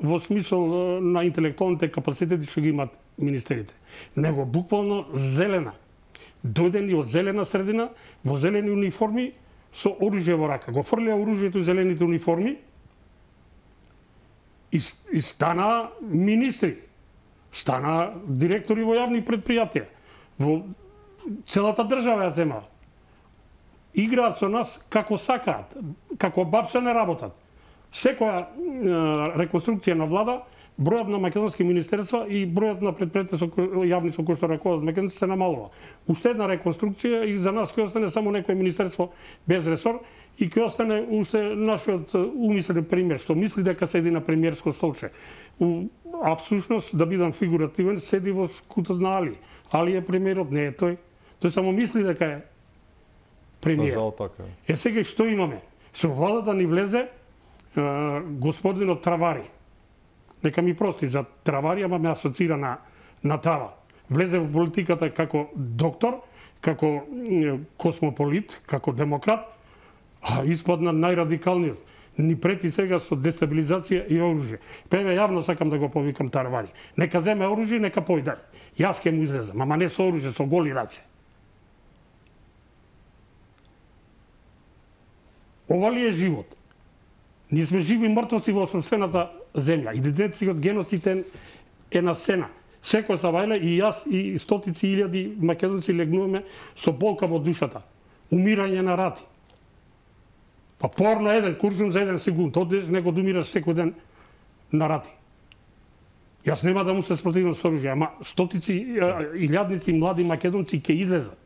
во смисол на интелектуалните капацитети што ги имат министерите, него буквално зелена. Дојдени од зелена средина, во зелени униформи, со оружје во рака. Го фрлеа оружјето и зелените униформи и, и стана министри, стана директори во јавни предпријатија. Во целата држава ја земаа. Играат со нас како сакаат, како бавче не работат. Секоја е, реконструкција на влада, бројот на македонски министерства и бројот на предпријатија со јавни со кои што ракуваат македонци се намалува. Уште една реконструкција и за нас ќе остане само некое министерство без ресор и ќе остане уште нашиот умислен премиер што мисли дека седи на премиерско столче. А всушност, да бидам фигуративен, седи во скутот на Али. Али е премиерот, не е тој. Тој само мисли дека е премиер. Жал така. Е сега што имаме? Со владата ни влезе е, господинот Travari. Нека ми прости за Travari, ама ме асоцира на на трава. Влезе во политиката како доктор, како е, космополит, како демократ, а испадна најрадикалниот. Ни прети сега со дестабилизација и оружје. Певе јавно сакам да го повикам Travari. Нека земе оружје, нека појде. Јас ќе му излезам, ама не со оружје, со голи раце. Ова ли е живот? Ние сме живи мртвоци во сопствената земја. Идентитетот геноцид е на сцена. Секој сабајле и јас и стотици илјади македонци легнуваме со болка во душата. Умирање на рати. Па порно еден куршум за еден секунд. Одеш, него да умираш секој ден на рати. Јас нема да му се спротивам со оружје, ама стотици илјадници млади македонци ќе излезат.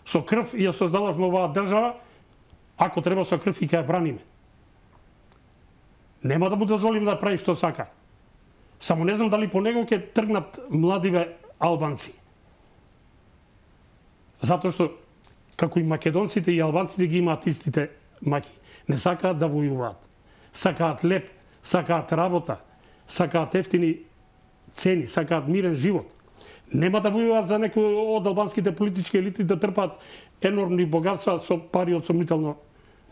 Со крв ја создававме оваа држава, ако треба со крв и ќе ја браниме. Нема да му дозволим да прави што сака. Само не знам дали по него ќе тргнат младиве албанци. Затоа што како и македонците и албанците ги имаат истите маки. Не сакаат да војуваат. Сакаат леп, сакаат работа, сакаат ефтини цени, сакаат мирен живот. Нема да војуваат за некои од албанските политички елити да трпаат енормни богатства со пари од сомнително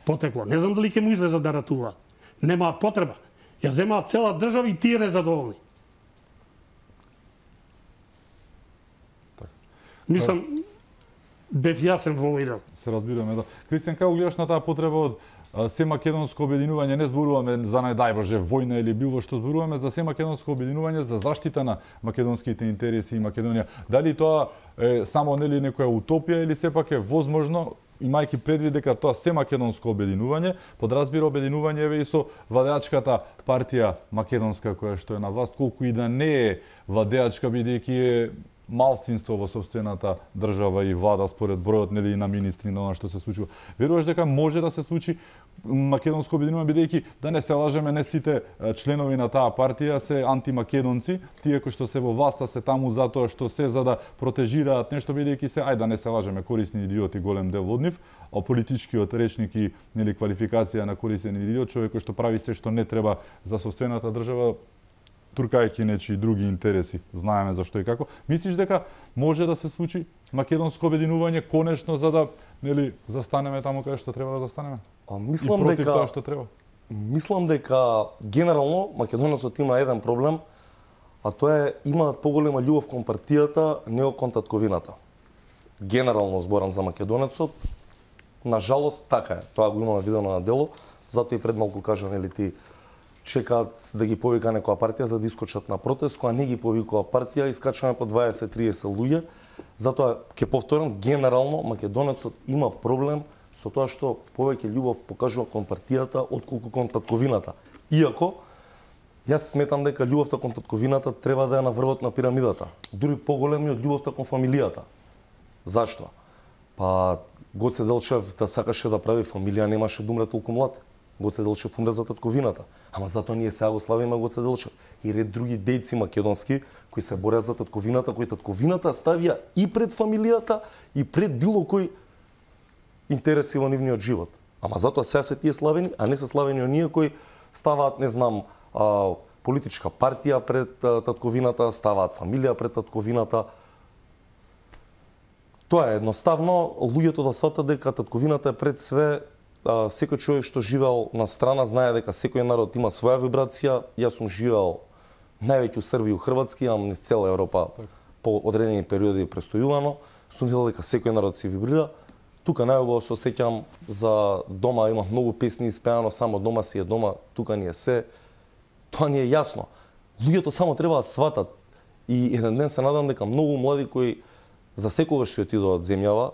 потекло. Не знам дали ќе му излезат да ратуваат. Немаат потреба. Ја земаат цела држава и тие незадоволни. Так. Мислам, бев јасен во овој дел. Се разбираме, да. Кристијан, како гледаш на таа потреба од а, се македонско обединување? Не зборуваме за најдај Боже војна или било што, зборуваме за се македонско обединување за заштита на македонските интереси и Македонија. Дали тоа е само нели некоја утопија или сепак е возможно, имајќи предвид дека тоа се македонско обединување, подразбира обединување еве и со владеачката партија македонска која што е на власт, колку и да не е владеачка бидејќи е малцинство во сопствената држава и влада според бројот нели на министри на она што се случува. Веруваш дека може да се случи македонско обединување бидејќи да не се лажеме, не сите членови на таа партија се антимакедонци, тие кои што се во власта се таму затоа што се за да протежираат нешто бидејќи се ајде да не се лажеме корисни идиоти голем дел од нив, а политичкиот речник и нели квалификација на корисен идиот, човек кој што прави се што не треба за сопствената држава, туркајќи нечи други интереси, знаеме зашто и како. Мислиш дека може да се случи македонско обединување конечно за да нели застанеме таму каде што треба да застанеме? А мислам и против дека тоа што треба. Мислам дека генерално македонецот има еден проблем, а тоа е имаат поголема љубов кон партијата, него кон татковината. Генерално зборам за македонецот, на жалост така е. Тоа го имаме видено на дело, затоа и пред малку кажа нели ти чекаат да ги повика некоја партија за да искочат на протест, кога не ги повикува партија, искачаме по дваесет до триесет луѓе. Затоа ќе повторам, генерално македонецот има проблем со тоа што повеќе љубов покажува кон партијата отколку кон татковината. Иако јас сметам дека љубовта кон татковината треба да е на врвот на пирамидата, дури поголеми од љубовта кон фамилијата. Зашто? Па Гоце Делчев да сакаше да прави фамилија, немаше да умре толку млад. Гоце Делчев умре за татковината. Ама затоа ние сега го славиме Гоце Делчев. И ред други дејци македонски кои се борат за татковината, кои татковината ставија и пред фамилијата и пред било кој интереси во нивниот живот. Ама затоа сега се тие славени, а не се славени оние кои ставаат, не знам, а, политичка партија пред а, татковината, ставаат фамилија пред татковината. Тоа е едноставно луѓето да сватат дека татковината е пред све. А, секој човек што живеел на страна знае дека секој народ има своја вибрација. Јас сум живеел највеќе у Србија и у Хрватски, имам низ цела Европа так. По одредени периоди престојувано. Сум видел дека секој народ си вибрира. Тука најубаво се осеќам за дома, има многу песни испеано, само дома си е дома, тука ни е се. Тоа ни е јасно. Луѓето само треба да сватат. И еден ден се надам дека многу млади кои за секогаш ќе отидат од земјава,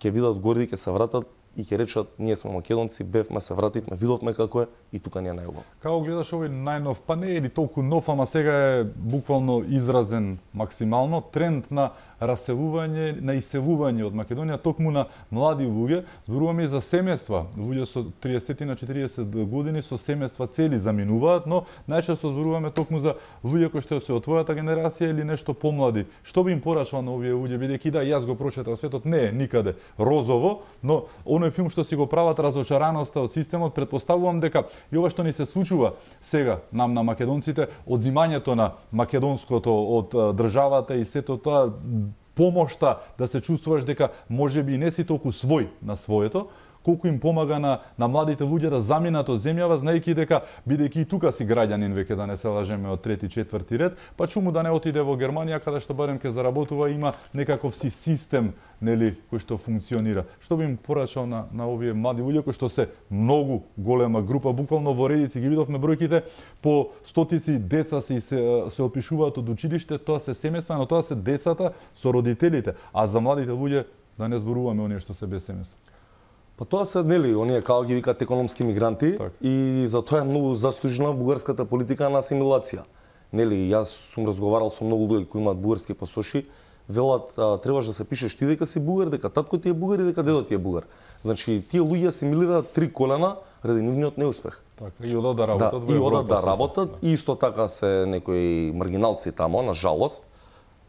ќе бидат горди, ќе се вратат и ќе речат, ние сме македонци, бевме, се вративме, видовме како е и тука ни е најубаво. Како гледаш овој најнов, па не е ли толку нов, ама сега е буквално изразен максимално тренд на раселување, на иселување од Македонија, токму на млади луѓе. Зборуваме и за семејства. Луѓе со триесет на четириесет години со семејства цели заминуваат, но најчесто зборуваме токму за луѓе кои што се од твојата генерација или нешто помлади. Што би им порачал на овие луѓе, бидејќи да, јас го прочетав, светот не е никаде розово, но оној филм што си го прават разочараноста од системот, претпоставувам дека и ова што ни се случува сега нам на македонците, одзимањето на македонското од државата и сето тоа, помошта да се чувствуваш дека можеби не си толку свој на своето, колку им помага на, на младите луѓе да заминат од земјава, знаејќи дека, бидејќи и тука си граѓанин веќе, да не се лажеме, од трети, четврти ред, па чуму да не отиде во Германија, каде што барем ке заработува, има некаков си систем, нели, кој што функционира. Што би им порачал на, на овие млади луѓе кои што се многу голема група, буквално во редици ги видовме бројките, по стотици деца се се, се опишуваат од училиште, тоа се семејства, но тоа се децата со родителите, а за младите луѓе да не зборуваме оние што се без семејства. Па тоа се, нели, оние како ги викаат економски мигранти, так. И затоа е многу заслужена бугарската политика на асимилација. Нели, јас сум разговарал со многу луѓе кои имаат бугарски пасоши, велат, а, требаш да се пишеш ти дека си бугар, дека татко ти е бугар и дека дедо ти е бугар. Значи, тие луѓе асимилираат три колена ради нивниот неуспех. Така, и одат да работат да, во Европа. И одат да работат, да. И исто така се некои маргиналци тамо, на жалост.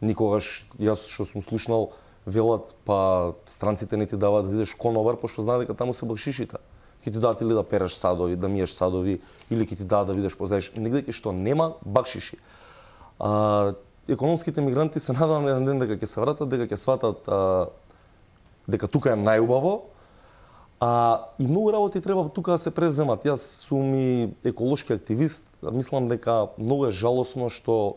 Никогаш, јас што сум слушнал, велат, па странците не ти даваат да видиш конобар, пошто знаат дека таму се бакшишите. Ќе ти дадат или да переш садови, да миеш садови, или ќе ти дадат да видиш позаеш негде кај што нема бакшиши. А, економските мигранти се надевам еден ден дека ќе се вратат, дека ќе сватат а, дека тука е најубаво. А и многу работи треба тука да се преземат. Јас сум и еколошки активист, мислам дека многу е жалосно што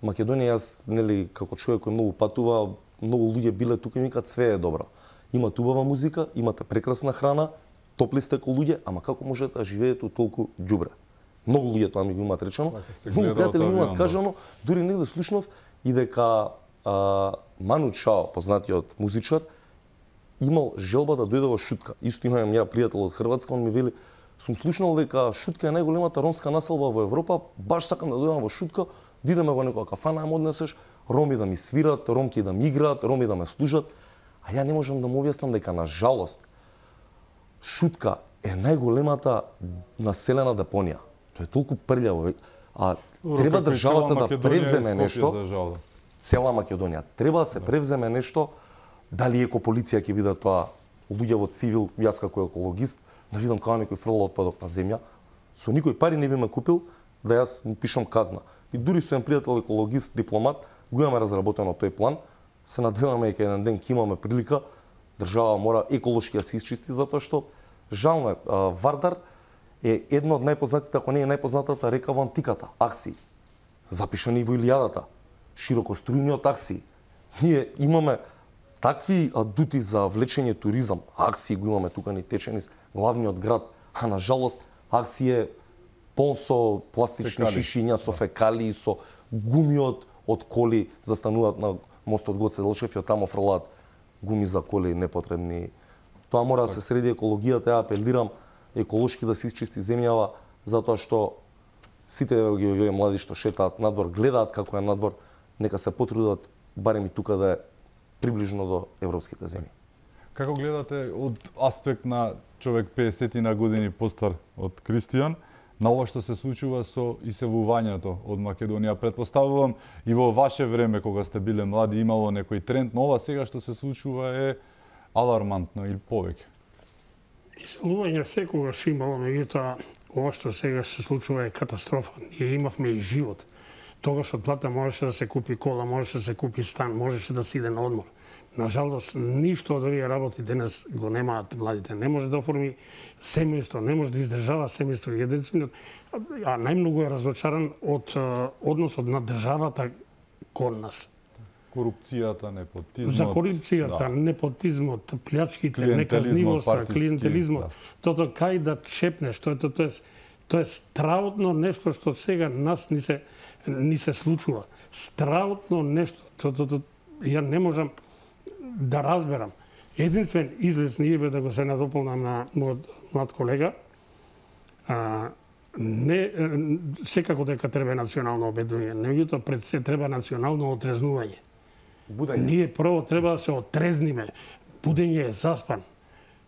Македонија, јас, нели, како човек кој многу патува, многу луѓе биле тука и викаат све е добро. Имате убава музика, имате прекрасна храна, топли сте ко луѓе, ама како можете да живеете толку ѓубре? Многу луѓе тоа ми го имаат речено. Многу пријатели ми имаат кажано, дури негде слушнав и дека а, Ману Чао, познатиот музичар, имал желба да дојде во Шутка. Исто имам ја пријател од Хрватска, он ми вели, сум слушнал дека Шутка е најголемата ромска населба во Европа, баш сакам да дојдам во Шутка, да идеме во некоја кафана, ме однесеш, роми да ми свират, ромки да ми играат, роми да ме служат, а ја не можам да му објаснам дека на жалост Шутка е најголемата населена депонија. Тоа е толку прљаво, а треба државата да превземе нешто. Цела Македонија треба да се превземе нешто. Дали екополиција ќе биде тоа, луѓе во цивил, јас како екологист, да видам како некој фрла отпадок на земја, со никој пари не би ме купил да јас му пишам казна. И дури со еден пријател екологист, дипломат, го имаме разработено тој план. Се надеваме дека еден ден ќе имаме прилика, држава мора еколошки да се исчисти, затоа што жално е, Вардар е едно од најпознатите, ако не е најпознатата река во антиката, акции. Запишани во Илијадата, широкострујниот акции. Ние имаме такви адути за влечење туризам, акции го имаме тука ни тече низ главниот град, а на жалост акции е полн со пластични Фекали. шишиња, со фекалии, со гуми од, од коли, застануваат на мостот Гоце Делчев и од тамо фрлаат гуми за коли непотребни. Тоа мора да се среди екологијата, ја апелирам еколошки да се исчисти земјава, затоа што сите ги овие млади што шетаат надвор, гледаат како е надвор, нека се потрудат барем и тука да е приближно до европските земји. Како гледате од аспект на човек песет на години постар од Кристијан, на ова што се случува со иселувањето од Македонија? Претпоставувам и во ваше време, кога сте биле млади, имало некој тренд, но ова сега што се случува е алармантно или повеќе. Иселување секогаш имало, меѓутоа ова што сега се случува е катастрофа. Ние имавме и живот. Тогаш од плата можеше да се купи кола, можеше да се купи стан, можеше да се иде на одмор. Нажалост, ништо од овие работи денес го немаат младите. Не може да оформи семејство, не може да издржава семејство единствено, а најмногу е разочаран од односот на државата кон нас. Корупцијата, непотизмот. За корупцијата, да. непотизмот, плячките, Клиентелизмот, неказнивоста, партиски, клиентелизмот, да. тото кај да чепнеш, тоа тоа тоа е тоа е страутно нешто што сега нас ни се ни се случува. Страутно нешто. Тоа тоа ја не можам да разберам. Единствен излез ние бе да го се надополнам на мојот млад колега. А, не секако дека треба национално обедување, меѓутоа пред се треба национално отрезнување. Будење. Ние прво треба да се отрезниме. Будење е заспан.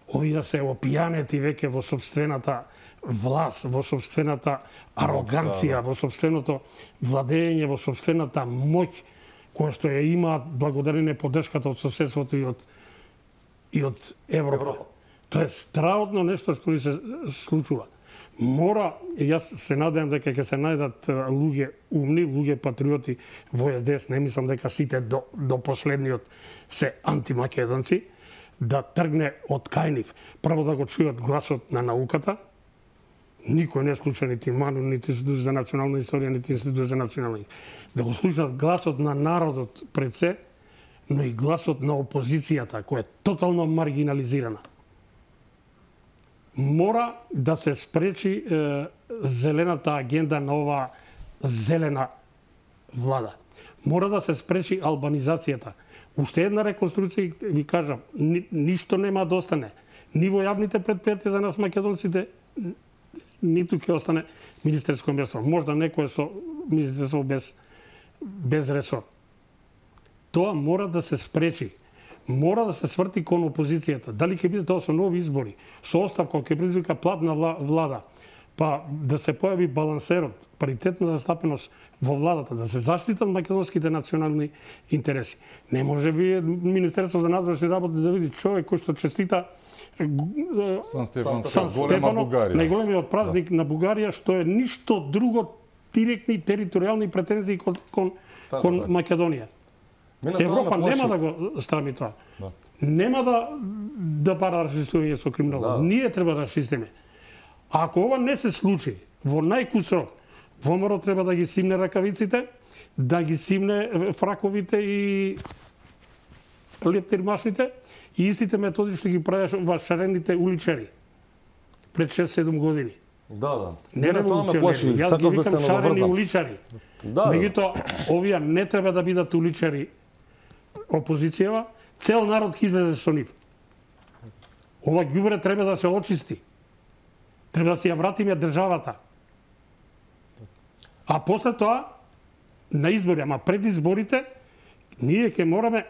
Овие се опијанети веќе во собствената власт, во собствената ароганција, во собственото владење, во собствената моќ која што ја имаат благодарение поддршката од соседството и од и од Европа. Европа. Тоа е страутно нешто што ни се случува. Мора, јас се надевам дека ќе се најдат луѓе умни, луѓе патриоти во Е С Д С, не мислам дека сите до, до последниот се антимакедонци, да тргне од кај нив. Прво да го чујат гласот на науката. Никој не слуша нити МАНУ, нити Институт за национална историја, нити Институт за национална. Да го слушнат гласот на народот пред се, но и гласот на опозицијата, која е тотално маргинализирана. Мора да се спречи е, зелената агенда на ова зелена влада. Мора да се спречи албанизацијата. Уште една реконструкција, ви кажам, ни, ништо нема да остане. Ни во јавните предпријатија за нас македонците, ниту ќе остане министерско место. Можда некој со министерство без, без ресор. Тоа мора да се спречи. Мора да се сврти кон опозицијата. Дали ќе биде тоа со нови избори, со оставка, ќе предизвика платна влада, па да се појави балансерот, паритетна застапеност во владата, да се заштитат македонските национални интереси. Не може вие Министерство за надворешни работи да види човек кој што честита Сан Стефан, Сан Стефано, најголемиот празник да. на Бугарија, што е ништо друго директни територијални претензии кон, кон, така, кон да. Македонија. Европа нема да го страми тоа. Да. Нема да да бара расистување со криминал. Да. Ние треба да расистиме. А ако ова не се случи во најкус рок, ВМРО треба да ги симне ракавиците, да ги симне фраковите и лептирмашните и истите методи што ги правеше вашарените уличари пред шест-седум години. Да, да. Не револуционери, јас ги викам да шарени уличари. Да, меѓутоа, овие не треба да бидат уличари опозицијава, цел народ ќе излезе со нив. Ова ѓубре треба да се очисти. Треба да се ја вратиме државата. А после тоа, на избори, ама пред изборите, ние ќе мораме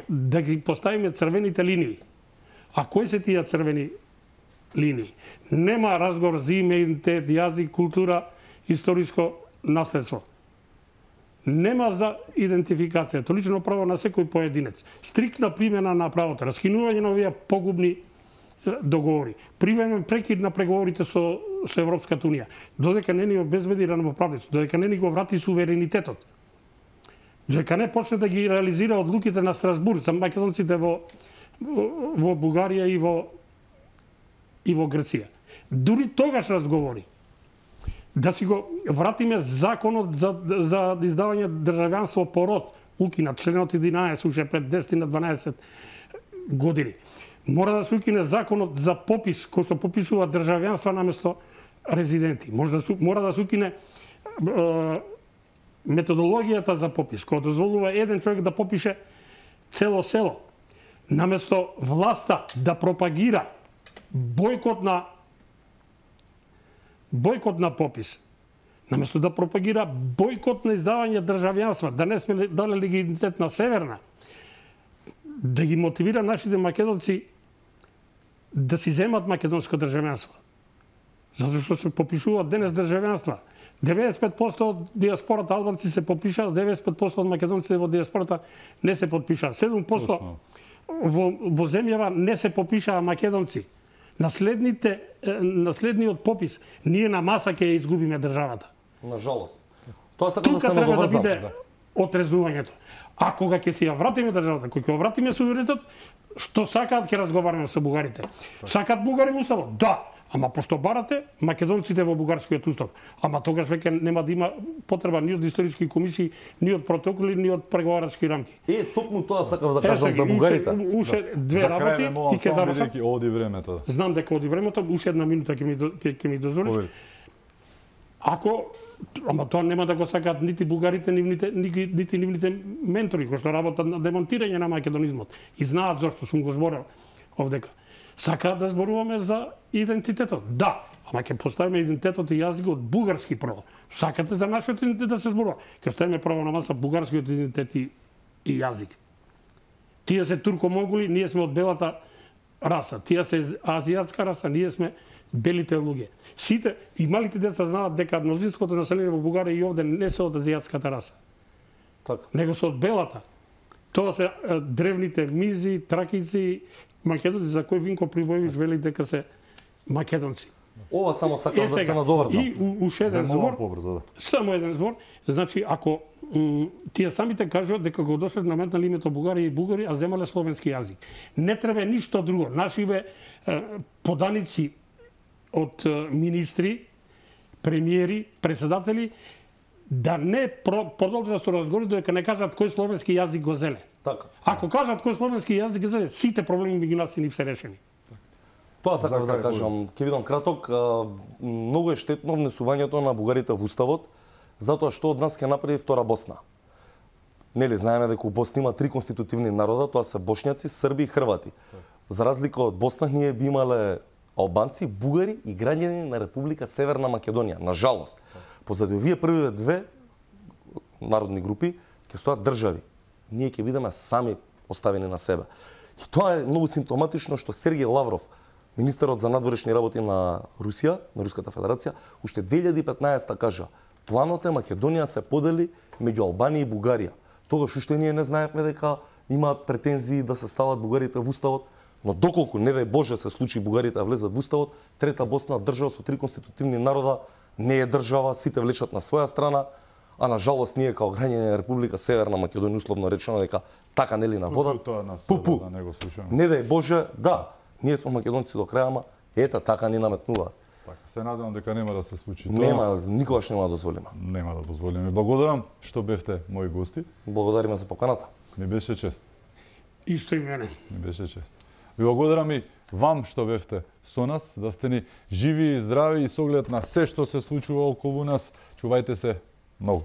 да ги поставиме црвените линии. А кои се тие црвени линии? Нема разговор за име, идентитет, јазик, култура, историско наследство. Нема за идентификација, то лично право на секој поединец. Стриктна примена на правото, раскинување на овие погубни договори. Привремен прекид на преговорите со, со Европската Унија. Додека не ни обезбеди равноправност, додека не ни го врати суверенитетот. Додека не почне да ги реализира одлуките на Страсбург за македонците во, во Бугарија и во, и во Грција. Дури тогаш разговори. Да си го вратиме законот за, за издавање државјанство по род, укинат членот единаесет, уште пред десет на дванаесет години. Мора да се укине законот за попис, кој што пописува државјанства наместо резиденти. Може да су, мора да се укине е, методологијата за попис, која дозволува еден човек да попише цело село. Наместо власта да пропагира бојкот на бојкот на попис, наместо да пропагира бојкот на издавање државјанства, да не сме дали легитимитет на Северна, да ги мотивира нашите македонци да си земат македонско државјанство. Затоа што се попишуваат денес државјанства. деветдесет и пет проценти од диаспората албанци се попишаат, деветдесет и пет проценти од македонците во диаспората не се подпишаат. седум проценти во, во земјава не се попишаа македонци. Наследните, наследниот попис, ние на маса ќе ја изгубиме државата. На жалост. Тоа сакам да се треба да надоврзам. биде отрезувањето. А кога ќе си ја вратиме државата, кога ќе ја вратиме суверенитет, што сакаат ќе разговараме со бугарите. Сакаат бугари во уставот? Да. Ама пошто барате македонците во бугарскиот устав, ама тогаш веќе нема да има потреба ни од историски комисии, ни од протоколи, ни од преговарачки рамки. Е, токму тоа сакам да кажам за бугарите. Уште две работи и ќе завршам. Оди времето. Знам дека оди времето, уште една минута ќе ми ќе, ќе ми дозволиш. Ако ама тоа нема да го сакаат нити бугарите, нивните нити, нити нивните ментори кои што работат на демонтирање на македонизмот и знаат зошто сум го зборел овдека. Сакаат да зборуваме за идентитетот. Да, ама ќе поставиме идентитетот и јазикот бугарски прво. Сакате за нашиот идентитет да се зборува. Ќе ставиме прво на маса бугарскиот идентитет и, и јазик. Тие се турко-монголи, ние сме од белата раса. Тие се азијатска раса, ние сме белите луѓе. Сите и малите деца знаат дека мнозинското население во Бугарија и овде не се од азијатската раса. Така. Него се од белата. Тоа се е, древните мизи, тракици, македонци за кои Винко Прибојевич вели дека се македонци. Ова само сакам е, да се надоврзам. И уште еден збор. Побрзо, да. Само еден збор. Значи, ако м, тие самите кажуваат дека го дошле наметнали името Бугарија и бугари, а земале словенски јазик. Не треба ништо друго. Нашиве е, поданици од е, министри, премиери, председатели да не продолжат со разговори дека не кажат кој словенски јазик го зеле. Така. Ако кажат кој словенски јазик го зеле, сите проблеми меѓу нас ни се решени. Тоа сакав да кажам. Ќе бидам краток. Многу е штетно внесувањето на бугарите во уставот, затоа што од нас ќе направи втора Босна. Нели знаеме дека у Босна има три конститутивни народа, тоа се бошњаци, срби и хрвати. За разлика од Босна, ние би имале албанци, бугари и граѓани на Република Северна Македонија. На жалост, позади овие првиве две народни групи ќе стоат држави. Ние ќе бидеме сами оставени на себе. И тоа е многу симптоматично што Сергеј Лавров, министерот за надворешни работи на Русија, на Руската Федерација, уште две илјади и петнаесета кажа: планот е Македонија се подели меѓу Албанија и Бугарија. Тогаш уште ние не знаевме дека имаат претензии да се стават бугарите во уставот, но доколку не дај Боже се случи бугарите да влезат во уставот, трета Босна, држава со три конститутивни народа, не е држава, сите влечат на своја страна, а на жалост ние као граѓани на Република Северна Македонија условно речено дека така нели на вода. Пу-пу. Да не го слушаме. Не дај Боже, да, ние сме македонци до крај, ама ета така ни наметнуваат. Така, се надевам дека нема да се случи тоа. Нема, никогаш нема да дозволиме. Нема да дозволиме. Благодарам што бевте мои гости. Благодариме за поканата. Ми беше чест. Исто и мене. Ми беше чест. Ви благодарам и вам што бевте со нас, да сте ни живи и здрави и со оглед на се што се случува околу нас. Чувајте се многу.